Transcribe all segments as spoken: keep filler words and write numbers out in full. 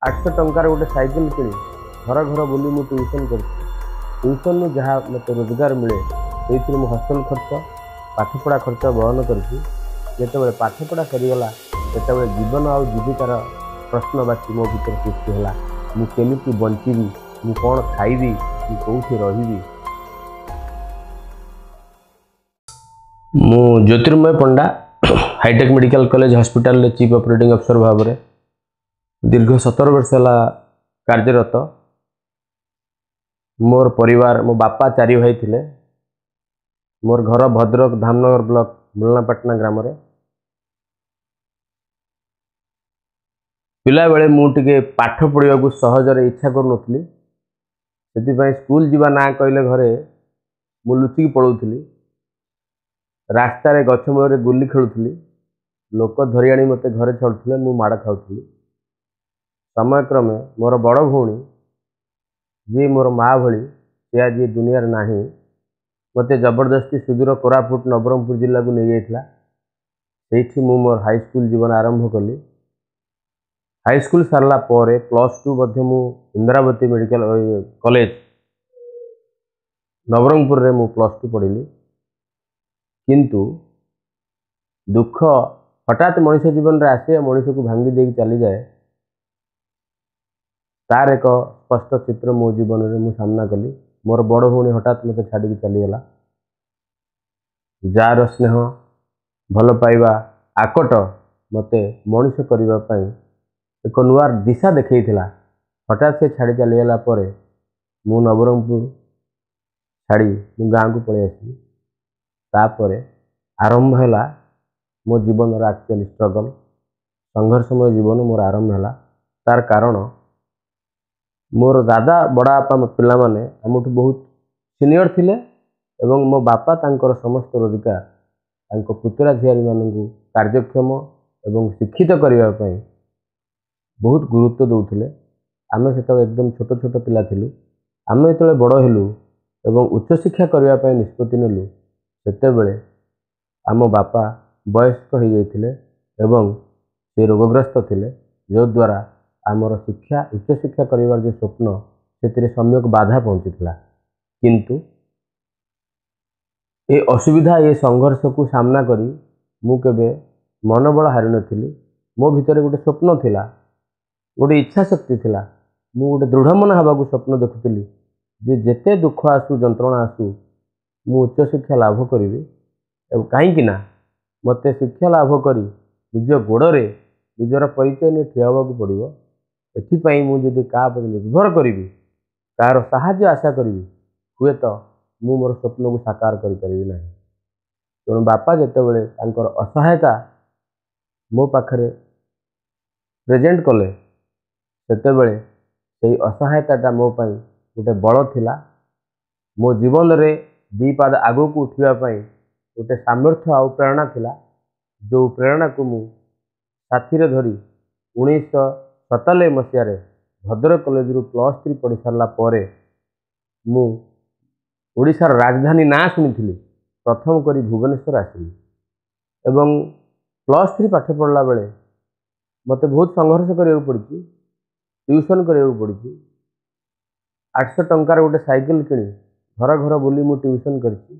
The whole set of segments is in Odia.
ଆଠଶହ ଟଙ୍କାର ଗୋଟେ ସାଇକେଲ କିଣି ଘର ଘର ବୁଲି ମୁଁ ଟ୍ୟୁସନ୍ କରିଛି। ଟ୍ୟୁସନ୍ରୁ ଯାହା ମୋତେ ରୋଜଗାର ମିଳେ, ସେଇଥିରୁ ମୁଁ ହଷ୍ଟେଲ ଖର୍ଚ୍ଚ, ପାଠପଢ଼ା ଖର୍ଚ୍ଚ ବହନ କରିଛି। ଯେତେବେଳେ ପାଠପଢ଼ା ସରିଗଲା, ସେତେବେଳେ ଜୀବନ ଆଉ ଜୀବିକାର ପ୍ରଶ୍ନବାଚୀ ମୋ ଭିତରେ ସୃଷ୍ଟି ହେଲା। ମୁଁ କେମିତି ବଞ୍ଚିବି? ମୁଁ କ'ଣ ଖାଇବି? ମୁଁ କେଉଁଠି ରହିବି? ମୁଁ ଜ୍ୟୋତିର୍ମୟ ପଣ୍ଡା, ହାଇଟେକ୍ ମେଡ଼ିକାଲ କଲେଜ ହସ୍ପିଟାଲରେ ଚିଫ୍ ଅପରେଟିଂ ଅଫିସର ଭାବରେ ଦୀର୍ଘ ସତର ବର୍ଷ ହେଲା କାର୍ଯ୍ୟରତ। ମୋର ପରିବାର, ମୋ ବାପା ଚାରି ଭାଇ ଥିଲେ। ମୋର ଘର ଭଦ୍ରକ ଧାମନଗର ବ୍ଲକ ମୂଲନାପାଟଣା ଗ୍ରାମରେ। ପିଲାବେଳେ ମୁଁ ଟିକେ ପାଠ ପଢ଼ିବାକୁ ସହଜରେ ଇଚ୍ଛା କରୁନଥିଲି। ସେଥିପାଇଁ ସ୍କୁଲ ଯିବା ନାଁ କହିଲେ ଘରେ ମୁଁ ଲୁଚିକି ପଳାଉଥିଲି। ରାସ୍ତାରେ ଗଛ ମୂଳରେ ଗୁଲି ଖେଳୁଥିଲି। ଲୋକ ଧରି ଆଣି ମୋତେ ଘରେ ଛାଡ଼ୁଥିଲେ, ମୁଁ ମାଡ଼ ଖାଉଥିଲି। ସମୟକ୍ରମେ ମୋର ବଡ଼ ଭଉଣୀ, ଯିଏ ମୋର ମା ଭଳି, ସେ ଆଜି ଏ ଦୁନିଆରେ ନାହିଁ, ମୋତେ ଜବରଦସ୍ତି ସୁଦୂର କୋରାପୁଟ ନବରଙ୍ଗପୁର ଜିଲ୍ଲାକୁ ନେଇଯାଇଥିଲା। ସେଇଠି ମୁଁ ମୋର ହାଇସ୍କୁଲ ଜୀବନ ଆରମ୍ଭ କଲି। ହାଇସ୍କୁଲ ସାରିଲା ପରେ ପ୍ଲସ୍ ଟୁ ମଧ୍ୟ ମୁଁ ଇନ୍ଦ୍ରାବତୀ ମେଡ଼ିକାଲ କଲେଜ ନବରଙ୍ଗପୁରରେ ମୁଁ ପ୍ଲସ୍ ଟୁ ପଢ଼ିଲି। କିନ୍ତୁ ଦୁଃଖ ହଠାତ୍ ମଣିଷ ଜୀବନରେ ଆସେ, ମଣିଷକୁ ଭାଙ୍ଗି ଦେଇକି ଚାଲିଯାଏ। ତାର ଏକ ସ୍ପଷ୍ଟ ଚିତ୍ର ମୋ ଜୀବନରେ ମୁଁ ସାମ୍ନା କଲି। ମୋର ବଡ଼ ଭଉଣୀ ହଠାତ୍ ମୋତେ ଛାଡ଼ିକି ଚାଲିଗଲା। ଯାହାର ସ୍ନେହ, ଭଲ ପାଇବା, ଆକଟ ମୋତେ ମଣିଷ କରିବା ପାଇଁ ଏକ ନୂଆ ଦିଶା ଦେଖେଇଥିଲା, ହଠାତ୍ ସେ ଛାଡ଼ି ଚାଲିଗଲା ପରେ ମୁଁ ନବରଙ୍ଗପୁର ଛାଡ଼ି ମୁଁ ଗାଁକୁ ପଳେଇ ଆସିଲି। ତାପରେ ଆରମ୍ଭ ହେଲା ମୋ ଜୀବନର ଆକ୍ଚୁଆଲି ଷ୍ଟ୍ରଗଲ୍, ସଂଘର୍ଷମୟ ଜୀବନ ମୋର ଆରମ୍ଭ ହେଲା। ତାର କାରଣ, ମୋର ଦାଦା ବଡ଼ବାପା ପିଲାମାନେ ଆମଠୁ ବହୁତ ସିନିୟର ଥିଲେ ଏବଂ ମୋ ବାପା ତାଙ୍କର ସମସ୍ତ ରୋଜଗାର ତାଙ୍କ ପୁତୁରା ଝିଆରୀମାନଙ୍କୁ କାର୍ଯ୍ୟକ୍ଷମ ଏବଂ ଶିକ୍ଷିତ କରିବା ପାଇଁ ବହୁତ ଗୁରୁତ୍ୱ ଦେଉଥିଲେ। ଆମେ ସେତେବେଳେ ଏକଦମ ଛୋଟ ଛୋଟ ପିଲା ଥିଲୁ। ଆମେ ଯେତେବେଳେ ବଡ଼ ହେଲୁ ଏବଂ ଉଚ୍ଚଶିକ୍ଷା କରିବା ପାଇଁ ନିଷ୍ପତ୍ତି ନେଲୁ, ସେତେବେଳେ ଆମ ବାପା ବୟସ୍କ ହୋଇଯାଇଥିଲେ ଏବଂ ସେ ରୋଗଗ୍ରସ୍ତ ଥିଲେ, ଯଦ୍ୱାରା ଆମର ଶିକ୍ଷା, ଉଚ୍ଚଶିକ୍ଷା କରିବାର ଯେଉଁ ସ୍ୱପ୍ନ, ସେଥିରେ ସମ୍ୟକ ବାଧା ପହଞ୍ଚିଥିଲା। କିନ୍ତୁ ଏ ଅସୁବିଧା, ଏ ସଂଘର୍ଷକୁ ସାମ୍ନା କରି ମୁଁ କେବେ ମନୋବଳ ହାରିନଥିଲି। ମୋ ଭିତରେ ଗୋଟେ ସ୍ୱପ୍ନ ଥିଲା, ଗୋଟେ ଇଚ୍ଛା ଶକ୍ତି ଥିଲା। ମୁଁ ଗୋଟେ ଦୃଢ଼ ମନ ହେବାକୁ ସ୍ୱପ୍ନ ଦେଖୁଥିଲି ଯେ ଯେତେ ଦୁଃଖ ଆସୁ, ଯନ୍ତ୍ରଣା ଆସୁ, ମୁଁ ଉଚ୍ଚଶିକ୍ଷା ଲାଭ କରିବି। ଏବଂ କାହିଁକି ନା ମୋତେ ଶିକ୍ଷା ଲାଭ କରି ନିଜ ଗୋଡ଼ରେ ନିଜର ପରିଚୟ ନେଇ ଠିଆ ହେବାକୁ ପଡ଼ିବ। ଏଥିପାଇଁ ମୁଁ ଯଦି କାହା ଉପରେ ନିର୍ଭର କରିବି, କାହାର ସାହାଯ୍ୟ ଆଶା କରିବି, ହୁଏତ ମୁଁ ମୋର ସ୍ୱପ୍ନକୁ ସାକାର କରିପାରିବି ନାହିଁ। ତେଣୁ ବାପା ଯେତେବେଳେ ତାଙ୍କର ଅସହାୟତା ମୋ ପାଖରେ ପ୍ରେଜେଣ୍ଟ କଲେ, ସେତେବେଳେ ସେଇ ଅସହାୟତାଟା ମୋ ପାଇଁ ଗୋଟେ ବଳ ଥିଲା। ମୋ ଜୀବନରେ ଦୁଇ ପାଦ ଆଗକୁ ଉଠିବା ପାଇଁ ଗୋଟେ ସାମର୍ଥ୍ୟ ଆଉ ପ୍ରେରଣା ଥିଲା, ଯେଉଁ ପ୍ରେରଣାକୁ ମୁଁ ସାଥିରେ ଧରି ଉଣେଇଶହ ସତାନବେ ମସିହାରେ ଭଦ୍ରକ କଲେଜରୁ ପ୍ଲସ୍ ଥ୍ରୀ ପଢ଼ି ସାରିଲା ପରେ ମୁଁ ଓଡ଼ିଶାର ରାଜଧାନୀ ନାଁ ଶୁଣିଥିଲି, ପ୍ରଥମ କରି ଭୁବନେଶ୍ୱର ଆସିଲି। ଏବଂ ପ୍ଲସ୍ ଥ୍ରୀ ପାଠ ପଢ଼ିଲା ବେଳେ ମୋତେ ବହୁତ ସଂଘର୍ଷ କରିବାକୁ ପଡ଼ିଛି, ଟ୍ୟୁସନ୍ କରିବାକୁ ପଡ଼ିଛି। ଆଠଶହ ଟଙ୍କାର ଗୋଟେ ସାଇକେଲ କିଣି ଘର ଘର ବୁଲି ମୁଁ ଟ୍ୟୁସନ୍ କରିଛି।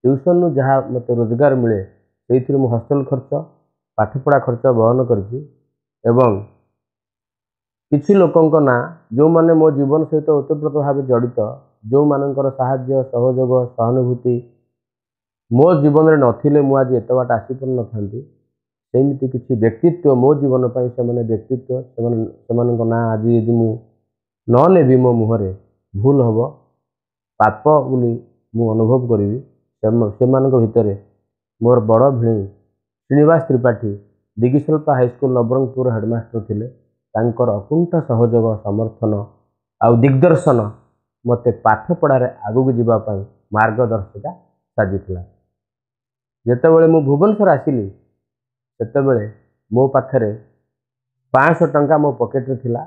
ଟ୍ୟୁସନ୍ରୁ ଯାହା ମୋତେ ରୋଜଗାର ମିଳେ, ସେଇଥିରୁ ମୁଁ ହଷ୍ଟେଲ ଖର୍ଚ୍ଚ, ପାଠପଢ଼ା ଖର୍ଚ୍ଚ ବହନ କରିଛି। ଏବଂ କିଛି ଲୋକଙ୍କ ନାଁ, ଯେଉଁମାନେ ମୋ ଜୀବନ ସହିତ ଓତପ୍ରୋତ ଭାବେ ଜଡ଼ିତ, ଯେଉଁମାନଙ୍କର ସାହାଯ୍ୟ, ସହଯୋଗ, ସହାନୁଭୂତି ମୋ ଜୀବନରେ ନଥିଲେ ମୁଁ ଆଜି ଏତେ ବାଟ ଆସିପାରିନଥାନ୍ତି, ସେମିତି କିଛି ବ୍ୟକ୍ତିତ୍ୱ ମୋ ଜୀବନ ପାଇଁ ସେମାନେ ବ୍ୟକ୍ତିତ୍ୱ, ସେମାନେ ସେମାନଙ୍କ ନାଁ ଆଜି ଯଦି ମୁଁ ନ ନେବି, ମୋ ମୁହଁରେ ଭୁଲ ହେବ, ପାପ ବୋଲି ମୁଁ ଅନୁଭବ କରିବି। ସେମାନଙ୍କ ଭିତରେ ମୋର ବଡ଼ ଭିଣେଇ ଶ୍ରୀନିବାସ ତ୍ରିପାଠୀ, ଦିଗିଶିଳ୍ପା ହାଇସ୍କୁଲ ନବରଙ୍ଗପୁର ହେଡ଼ମାଷ୍ଟର ଥିଲେ। ତାଙ୍କର ଅକୁଣ୍ଠ ସହଯୋଗ, ସମର୍ଥନ ଆଉ ଦିଗ୍ଦର୍ଶନ ମୋତେ ପାଠପଢ଼ାରେ ଆଗକୁ ଯିବା ପାଇଁ ମାର୍ଗଦର୍ଶିକା ସାଜିଥିଲା। ଯେତେବେଳେ ମୁଁ ଭୁବନେଶ୍ୱର ଆସିଲି, ସେତେବେଳେ ମୋ ପାଖରେ ପାଞ୍ଚଶହ ଟଙ୍କା ମୋ ପକେଟରେ ଥିଲା,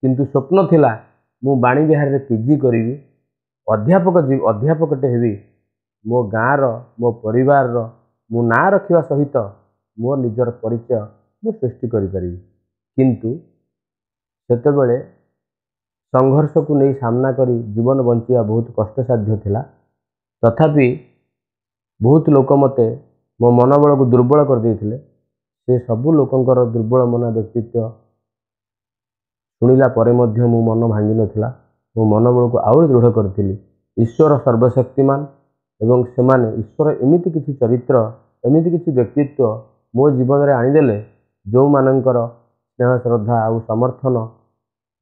କିନ୍ତୁ ସ୍ୱପ୍ନ ଥିଲା ମୁଁ ବାଣୀବିହାରରେ ପି ଜି କରିବି, ଅଧ୍ୟାପକ ଅଧ୍ୟାପକଟେ ହେବି। ମୋ ଗାଁର, ମୋ ପରିବାରର ମୁଁ ନାଁ ରଖିବା ସହିତ ମୋ ନିଜର ପରିଚୟ ମୁଁ ସୃଷ୍ଟି କରିପାରିବି। କିନ୍ତୁ ସେତେବେଳେ ସଂଘର୍ଷକୁ ନେଇ ସାମ୍ନା କରି ଜୀବନ ବଞ୍ଚିବା ବହୁତ କଷ୍ଟସାଧ୍ୟ ଥିଲା। ତଥାପି ବହୁତ ଲୋକ ମୋତେ ମୋ ମନୋବଳକୁ ଦୁର୍ବଳ କରିଦେଇଥିଲେ। ସେ ସବୁ ଲୋକଙ୍କର ଦୁର୍ବଳ ମନା ବ୍ୟକ୍ତିତ୍ୱ ଶୁଣିଲା ପରେ ମଧ୍ୟ ମୋ ମନ ଭାଙ୍ଗିନଥିଲା। ମୋ ମନୋବଳକୁ ଆହୁରି ଦୃଢ଼ କରିଥିଲି। ଈଶ୍ୱର ସର୍ବଶକ୍ତିମାନ ଏବଂ ସେମାନେ ଈଶ୍ୱର ଏମିତି କିଛି ଚରିତ୍ର, ଏମିତି କିଛି ବ୍ୟକ୍ତିତ୍ୱ ମୋ ଜୀବନରେ ଆଣିଦେଲେ, ଯେଉଁମାନଙ୍କର ସ୍ନେହ, ଶ୍ରଦ୍ଧା ଆଉ ସମର୍ଥନ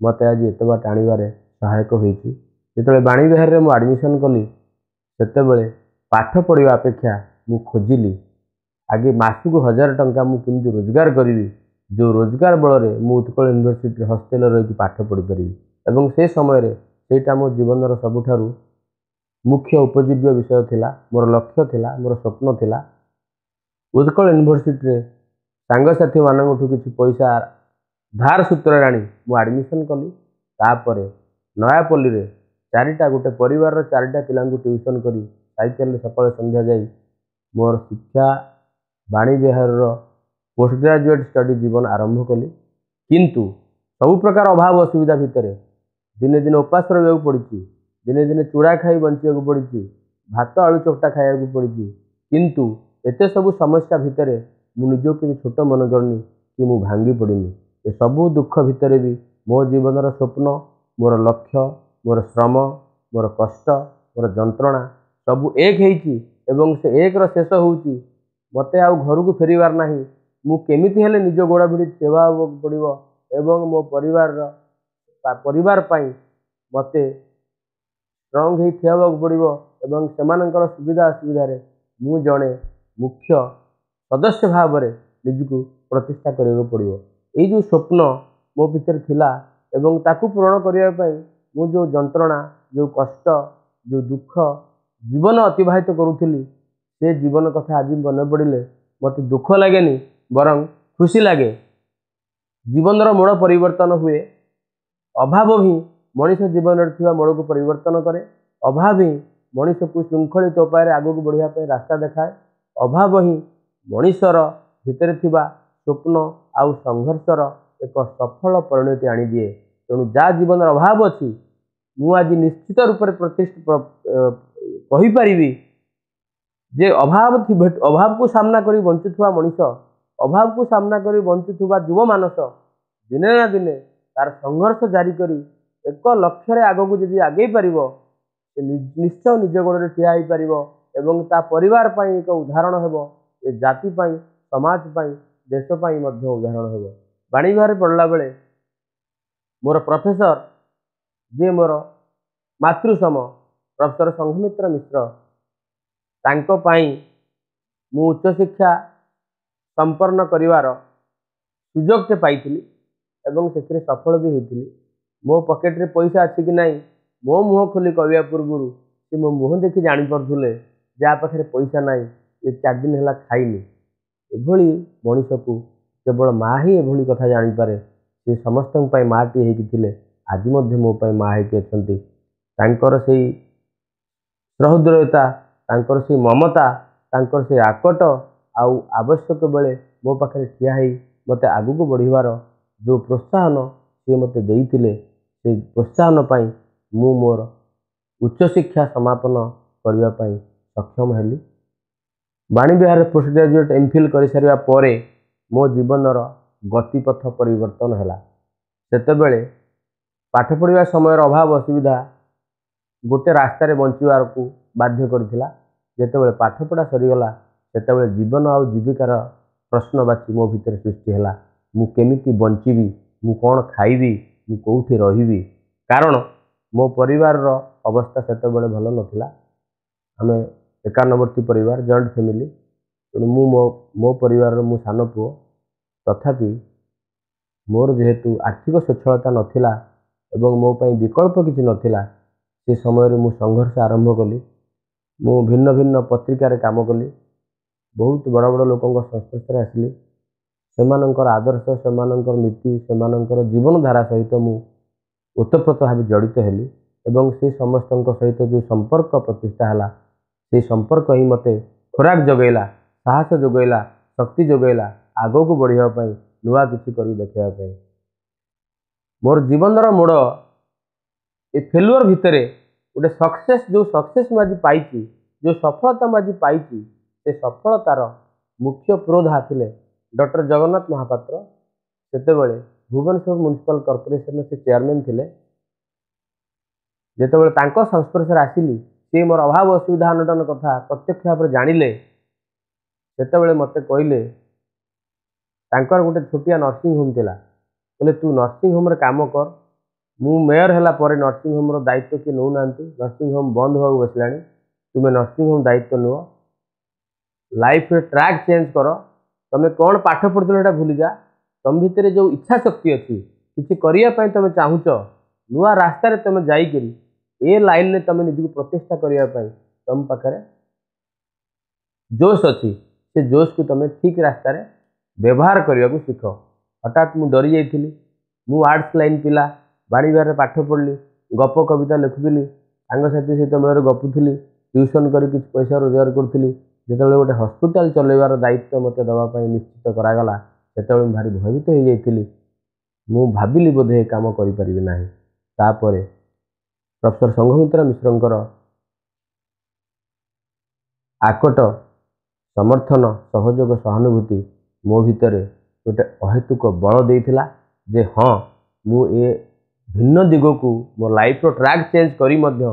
ମୋତେ ଆଜି ଏତେ ବାଟ ଆଣିବାରେ ସହାୟକ ହୋଇଛି। ଯେତେବେଳେ ବାଣୀବିହାରରେ ମୁଁ ଆଡ଼ମିସନ୍ କଲି, ସେତେବେଳେ ପାଠ ପଢ଼ିବା ଅପେକ୍ଷା ମୁଁ ଖୋଜିଲି ଆଗେ ମାସକୁ ହଜାର ଟଙ୍କା ମୁଁ କେମିତି ରୋଜଗାର କରିବି, ଯେଉଁ ରୋଜଗାର ବଳରେ ମୁଁ ଉତ୍କଳ ୟୁନିଭର୍ସିଟିରେ ହଷ୍ଟେଲରେ ରହିକି ପାଠ ପଢ଼ିପାରିବି। ଏବଂ ସେ ସମୟରେ ସେଇଟା ମୋ ଜୀବନର ସବୁଠାରୁ ମୁଖ୍ୟ ଉପଜୀବ୍ୟ ବିଷୟ ଥିଲା, ମୋର ଲକ୍ଷ୍ୟ ଥିଲା, ମୋର ସ୍ୱପ୍ନ ଥିଲା। ଉତ୍କଳ ୟୁନିଭର୍ସିଟିରେ ସାଙ୍ଗସାଥିମାନଙ୍କଠୁ କିଛି ପଇସା ଧାର ସୂତ୍ରରେ ଆଣି ମୁଁ ଆଡ଼ମିସନ୍ କଲି। ତାପରେ ନୟାପଲ୍ଲୀରେ ଚାରିଟା ଗୋଟେ ପରିବାରର ଚାରିଟା ପିଲାଙ୍କୁ ଟ୍ୟୁସନ୍ କରି ସାଇକେଲରେ ସକାଳେ ସନ୍ଧ୍ୟା ଯାଇ ମୋର ଶିକ୍ଷା ବାଣୀବିହାରର ପୋଷ୍ଟ ଗ୍ରାଜୁଏଟ୍ ଷ୍ଟଡ଼ି ଜୀବନ ଆରମ୍ଭ କଲି। କିନ୍ତୁ ସବୁ ପ୍ରକାର ଅଭାବ ଅସୁବିଧା ଭିତରେ ଦିନେ ଦିନେ ଉପାସ ରହିବାକୁ ପଡ଼ିଛି, ଦିନେ ଦିନେ ଚୂଡ଼ା ଖାଇ ବଞ୍ଚିବାକୁ ପଡ଼ିଛି, ଭାତ ଆଳୁ ଚକଟା ଖାଇବାକୁ ପଡ଼ିଛି। କିନ୍ତୁ ଏତେ ସବୁ ସମସ୍ୟା ଭିତରେ ମୁଁ ନିଜକୁ କେବେ ଛୋଟ ମନେ କରିନି କି ମୁଁ ଭାଙ୍ଗି ପଡ଼ିନି। ଏସବୁ ଦୁଃଖ ଭିତରେ ବି ମୋ ଜୀବନର ସ୍ୱପ୍ନ, ମୋର ଲକ୍ଷ୍ୟ, ମୋର ଶ୍ରମ, ମୋର କଷ୍ଟ, ମୋର ଯନ୍ତ୍ରଣା ସବୁ ଏକ ହେଇଛି ଏବଂ ସେ ଏକର ଶେଷ ହେଉଛି ମୋତେ ଆଉ ଘରକୁ ଫେରିବାର ନାହିଁ। ମୁଁ କେମିତି ହେଲେ ନିଜ ଗୋଡ଼ ଭିଡ଼ି ଠିଆ ହେବାକୁ ପଡ଼ିବ ଏବଂ ମୋ ପରିବାରର ପରିବାର ପାଇଁ ମୋତେ ଷ୍ଟ୍ରଙ୍ଗ ହେଇ ଠିଆ ହେବାକୁ ପଡ଼ିବ ଏବଂ ସେମାନଙ୍କର ସୁବିଧା ଅସୁବିଧାରେ ମୁଁ ଜଣେ ମୁଖ୍ୟ ସଦସ୍ୟ ଭାବରେ ନିଜକୁ ପ୍ରତିଷ୍ଠା କରିବାକୁ ପଡ଼ିବ। ଏଇ ଯେଉଁ ସ୍ୱପ୍ନ ମୋ ଭିତରେ ଥିଲା ଏବଂ ତାକୁ ପୂରଣ କରିବା ପାଇଁ ମୁଁ ଯେଉଁ ଯନ୍ତ୍ରଣା, ଯେଉଁ କଷ୍ଟ, ଯେଉଁ ଦୁଃଖ ଜୀବନ ଅତିବାହିତ କରୁଥିଲି, ସେ ଜୀବନ କଥା ଆଜି ମନେ ପଡ଼ିଲେ ମୋତେ ଦୁଃଖ ଲାଗେନି, ବରଂ ଖୁସି ଲାଗେ। ଜୀବନର ମୋଡ଼ ପରିବର୍ତ୍ତନ ହୁଏ। ଅଭାବ ହିଁ ମଣିଷ ଜୀବନରେ ଥିବା ମୋଡ଼କୁ ପରିବର୍ତ୍ତନ କରେ। ଅଭାବ ହିଁ ମଣିଷକୁ ଶୃଙ୍ଖଳିତ ଉପାୟରେ ଆଗକୁ ବଢ଼ିବା ପାଇଁ ରାସ୍ତା ଦେଖାଏ। ଅଭାବ ହିଁ ମଣିଷର ଭିତରେ ଥିବା ସ୍ୱପ୍ନ ଆଉ ସଂଘର୍ଷର ଏକ ସଫଳ ପରିଣତି ଆଣିଦିଏ। ତେଣୁ ଯାହା ଜୀବନର ଅଭାବ ଅଛି, ମୁଁ ଆଜି ନିଶ୍ଚିତ ରୂପରେ ପ୍ରତିଷ୍ଠା କହିପାରିବି ଯେ ଅଭାବ ଅଭାବକୁ ସାମ୍ନା କରି ବଞ୍ଚୁଥିବା ମଣିଷ, ଅଭାବକୁ ସାମ୍ନା କରି ବଞ୍ଚୁଥିବା ଯୁବ ମାନସ ଦିନେ ନା ଦିନେ ତାର ସଂଘର୍ଷ ଜାରି କରି ଏକ ଲକ୍ଷ୍ୟରେ ଆଗକୁ ଯଦି ଆଗେଇ ପାରିବ, ସେ ନିଶ୍ଚୟ ନିଜ ଗୋଡ଼ରେ ଠିଆ ହେଇପାରିବ ଏବଂ ତା ପରିବାର ପାଇଁ ଏକ ଉଦାହରଣ ହେବ, ଏ ଜାତି ପାଇଁ, ସମାଜ ପାଇଁ, ଦେଶ ପାଇଁ ମଧ୍ୟ ଉଦାହରଣ ହେବ। ବାଣୀବିହାରରେ ପଢ଼ିଲା ବେଳେ ମୋର ପ୍ରଫେସର, ଯିଏ ମୋର ମାତୃସମ, ପ୍ରଫେସର ସଂଘମିତ୍ର ମିଶ୍ର, ତାଙ୍କ ପାଇଁ ମୁଁ ଉଚ୍ଚଶିକ୍ଷା ସମ୍ପନ୍ନ କରିବାର ସୁଯୋଗଟେ ପାଇଥିଲି ଏବଂ ସେଥିରେ ସଫଳ ବି ହେଇଥିଲି। ମୋ ପକେଟରେ ପଇସା ଅଛି କି ନାହିଁ ମୋ ମୁହଁ ଖୋଲି କହିବା ପୂର୍ବରୁ ସେ ମୋ ମୁହଁ ଦେଖି ଜାଣିପାରୁଥିଲେ ଯାହା ପାଖରେ ପଇସା ନାହିଁ, ଏ ଚାରି ଦିନ ହେଲା ଖାଇନି। ଏଭଳି ମଣିଷକୁ କେବଳ ମା ହିଁ ଏଭଳି କଥା ଜାଣିପାରେ। ସେ ସମସ୍ତଙ୍କ ପାଇଁ ମାଆଟିଏ ହେଇକି ଥିଲେ, ଆଜି ମଧ୍ୟ ମୋ ପାଇଁ ମା ହେଇକି ଅଛନ୍ତି। ତାଙ୍କର ସେଇ ସହୃଦୟତା, ତାଙ୍କର ସେଇ ମମତା, ତାଙ୍କର ସେଇ ଆକଟ ଆଉ ଆବଶ୍ୟକ ବେଳେ ମୋ ପାଖରେ ଠିଆ ହେଇ ମୋତେ ଆଗକୁ ବଢ଼ିବାର ଯେଉଁ ପ୍ରୋତ୍ସାହନ ସିଏ ମୋତେ ଦେଇଥିଲେ, ସେଇ ପ୍ରୋତ୍ସାହନ ପାଇଁ ମୁଁ ମୋର ଉଚ୍ଚଶିକ୍ଷା ସମାପନ କରିବା ପାଇଁ ସକ୍ଷମ ହେଲି। ବାଣୀବିହାରରେ ପୋଷ୍ଟ ଗ୍ରାଜୁଏଟ୍ ଏମ୍ ଫିଲ୍ କରିସାରିବା ପରେ ମୋ ଜୀବନର ଗତିପଥ ପରିବର୍ତ୍ତନ ହେଲା। ସେତେବେଳେ ପାଠ ପଢ଼ିବା ସମୟର ଅଭାବ ଅସୁବିଧା ଗୋଟେ ରାସ୍ତାରେ ବଞ୍ଚିବାକୁ ବାଧ୍ୟ କରିଥିଲା। ଯେତେବେଳେ ପାଠପଢ଼ା ସରିଗଲା, ସେତେବେଳେ ଜୀବନ ଆଉ ଜୀବିକାର ପ୍ରଶ୍ନବାଚୀ ମୋ ଭିତରେ ସୃଷ୍ଟି ହେଲା। ମୁଁ କେମିତି ବଞ୍ଚିବି? ମୁଁ କ'ଣ ଖାଇବି? ମୁଁ କେଉଁଠି ରହିବି? କାରଣ ମୋ ପରିବାରର ଅବସ୍ଥା ସେତେବେଳେ ଭଲ ନଥିଲା। ଆମେ ଏକାନ୍ନବର୍ତ୍ତୀ ପରିବାର, ଜଏଣ୍ଟ ଫ୍ୟାମିଲି। ତେଣୁ ମୁଁ ମୋ ମୋ ପରିବାରର ମୁଁ ସାନ ପୁଅ। ତଥାପି ମୋର ଯେହେତୁ ଆର୍ଥିକ ସ୍ୱଚ୍ଛଳତା ନଥିଲା ଏବଂ ମୋ ପାଇଁ ବିକଳ୍ପ କିଛି ନଥିଲା, ସେ ସମୟରେ ମୁଁ ସଂଘର୍ଷ ଆରମ୍ଭ କଲି। ମୁଁ ଭିନ୍ନ ଭିନ୍ନ ପତ୍ରିକାରେ କାମ କଲି, ବହୁତ ବଡ଼ ବଡ଼ ଲୋକଙ୍କ ସଂସ୍ପର୍ଶରେ ଆସିଲି। ସେମାନଙ୍କର ଆଦର୍ଶ, ସେମାନଙ୍କର ନୀତି, ସେମାନଙ୍କର ଜୀବନଧାରା ସହିତ ମୁଁ ଓତପ୍ରୋତ ଭାବେ ଜଡ଼ିତ ହେଲି ଏବଂ ସେ ସମସ୍ତଙ୍କ ସହିତ ଯେଉଁ ସମ୍ପର୍କ ପ୍ରତିଷ୍ଠା ହେଲା, ସେଇ ସମ୍ପର୍କ ହିଁ ମୋତେ ଖୋରାକ ଯୋଗାଇଲା, ସାହସ ଯୋଗାଇଲା, ଶକ୍ତି ଯୋଗାଇଲା ଆଗକୁ ବଢ଼ିବା ପାଇଁ, ନୂଆ କିଛି କରି ଦେଖାଇବା ପାଇଁ। ମୋର ଜୀବନର ମୋଡ଼ ଏ ଫେଲୁଅର୍ ଭିତରେ ଗୋଟେ ସକ୍ସେସ୍, ଯେଉଁ ସକ୍ସେସ୍ ମୁଁ ଆଜି ପାଇଛି, ଯେଉଁ ସଫଳତା ମୁଁ ଆଜି ପାଇଛି, ସେ ସଫଳତାର ମୁଖ୍ୟ ପୁରୋଧା ଥିଲେ ଡକ୍ଟର ଜଗନ୍ନାଥ ମହାପାତ୍ର। ସେତେବେଳେ ଭୁବନେଶ୍ୱର ମ୍ୟୁନିସିପାଲ କର୍ପୋରେସନର ସେ ଚେୟାରମ୍ୟାନ୍ ଥିଲେ। ଯେତେବେଳେ ତାଙ୍କ ସଂସ୍ପର୍ଶରେ ଆସିଲି, ସିଏ ମୋର ଅଭାବ ଅସୁବିଧା ଅନଟନ କଥା ପ୍ରତ୍ୟକ୍ଷ ଭାବରେ ଜାଣିଲେ। ସେତେବେଳେ ମୋତେ କହିଲେ, ତାଙ୍କର ଗୋଟେ ଛୋଟିଆ ନର୍ସିଂ ହୋମ୍ ଥିଲା, କହିଲେ ତୁ ନର୍ସିଂ ହୋମ୍ରେ କାମ କର, ମୁଁ ମେୟର ହେଲା ପରେ ନର୍ସିଂ ହୋମ୍ର ଦାୟିତ୍ୱ କିଏ ନେଉନାହାନ୍ତି, ନର୍ସିଂ ହୋମ୍ ବନ୍ଦ ହେବାକୁ ବସିଲାଣି, ତୁମେ ନର୍ସିଂ ହୋମ୍ ଦାୟିତ୍ୱ ନିଅ, ଲାଇଫରେ ଟ୍ରାକ୍ ଚେଞ୍ଜ କର, ତମେ କ'ଣ ପାଠ ପଢ଼ୁଥିଲ ସେଇଟା ଭୁଲିଯା, ତମ ଭିତରେ ଯେଉଁ ଇଚ୍ଛା ଶକ୍ତି ଅଛି କିଛି କରିବା ପାଇଁ ତମେ ଚାହୁଁଛ, ନୂଆ ରାସ୍ତାରେ ତମେ ଯାଇକରି ଏ ଲାଇନରେ ତମେ ନିଜକୁ ପ୍ରତିଷ୍ଠା କରିବା ପାଇଁ ତମ ପାଖରେ ଜୋସ୍ ଅଛି, ସେ ଜୋସ୍କୁ ତମେ ଠିକ୍ ରାସ୍ତାରେ ବ୍ୟବହାର କରିବାକୁ ଶିଖ। ହଠାତ୍ ମୁଁ ଡରି ଯାଇଥିଲି। ମୁଁ ଆର୍ଟ୍ସ ଲାଇନ୍ ପିଲା, ବାଣୀବିହାରରେ ପାଠ ପଢ଼ିଲି, ଗପ କବିତା ଲେଖୁଥିଲି, ସାଙ୍ଗସାଥି ସହିତ ମେଳରେ ଗପୁଥିଲି, ଟ୍ୟୁସନ୍ କରି କିଛି ପଇସା ରୋଜଗାର କରୁଥିଲି। ଯେତେବେଳେ ଗୋଟେ ହସ୍ପିଟାଲ ଚଲେଇବାର ଦାୟିତ୍ୱ ମୋତେ ଦେବା ପାଇଁ ନିଶ୍ଚିତ କରାଗଲା, ସେତେବେଳେ ମୁଁ ଭାରି ଭୟଭୀତ ହେଇଯାଇଥିଲି। ମୁଁ ଭାବିଲି ବୋଧେ ଏ କାମ କରିପାରିବି ନାହିଁ। ତାପରେ ପ୍ରଫେସର ସଂଘମିତ୍ରା ମିଶ୍ରଙ୍କର ଆକଟ ସମର୍ଥନ, ସହଯୋଗ, ସହାନୁଭୂତି ମୋ ଭିତରେ ଗୋଟେ ଅହେତୁକ ବଳ ଦେଇଥିଲା ଯେ ହଁ, ମୁଁ ଏ ଭିନ୍ନ ଦିଗକୁ ମୋ ଲାଇଫ୍ର ଟ୍ରାକ୍ ଚେଞ୍ଜ କରି ମଧ୍ୟ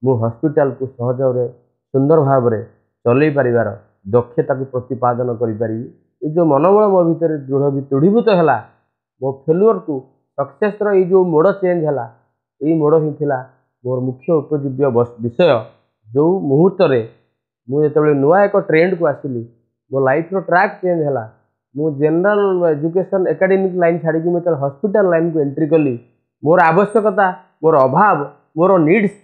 ମୁଁ ହସ୍ପିଟାଲକୁ ସହଜରେ ସୁନ୍ଦର ଭାବରେ ଚଲେଇ ପାରିବାର ଦକ୍ଷତାକୁ ପ୍ରତିପାଦନ କରିପାରିବି। ଏ ଯେଉଁ ମନୋବଳ ମୋ ଭିତରେ ଦୃଢ଼ ଦୃଢ଼ୀଭୂତ ହେଲା, ମୋ ଫେଲୁଅର୍କୁ ସକ୍ସେସ୍ର ଏଇ ଯେଉଁ ମୋଡ଼ ଚେଞ୍ଜ ହେଲା, ଏଇ ମୋଡ଼ ହିଁ ଥିଲା ମୋର ମୁଖ୍ୟ ଉପଜୀବ୍ୟ ବିଷୟ। ଯେଉଁ ମୁହୂର୍ତ୍ତରେ ମୁଁ ଯେତେବେଳେ ନୂଆ ଏକ ଟ୍ରେଣ୍ଡକୁ ଆସିଲି, ମୋ ଲାଇଫ୍ର ଟ୍ରାକ୍ ଚେଞ୍ଜ ହେଲା, ମୁଁ ଜେନେରାଲ ଏଜୁକେସନ୍ ଏକାଡେମିକ୍ ଲାଇନ୍ ଛାଡ଼ିକି ମୁଁ ଯେତେବେଳେ ହସ୍ପିଟାଲ ଲାଇନ୍କୁ ଏଣ୍ଟ୍ରି କଲି, ମୋର ଆବଶ୍ୟକତା, ମୋର ଅଭାବ, ମୋର ନିଡ଼୍ସ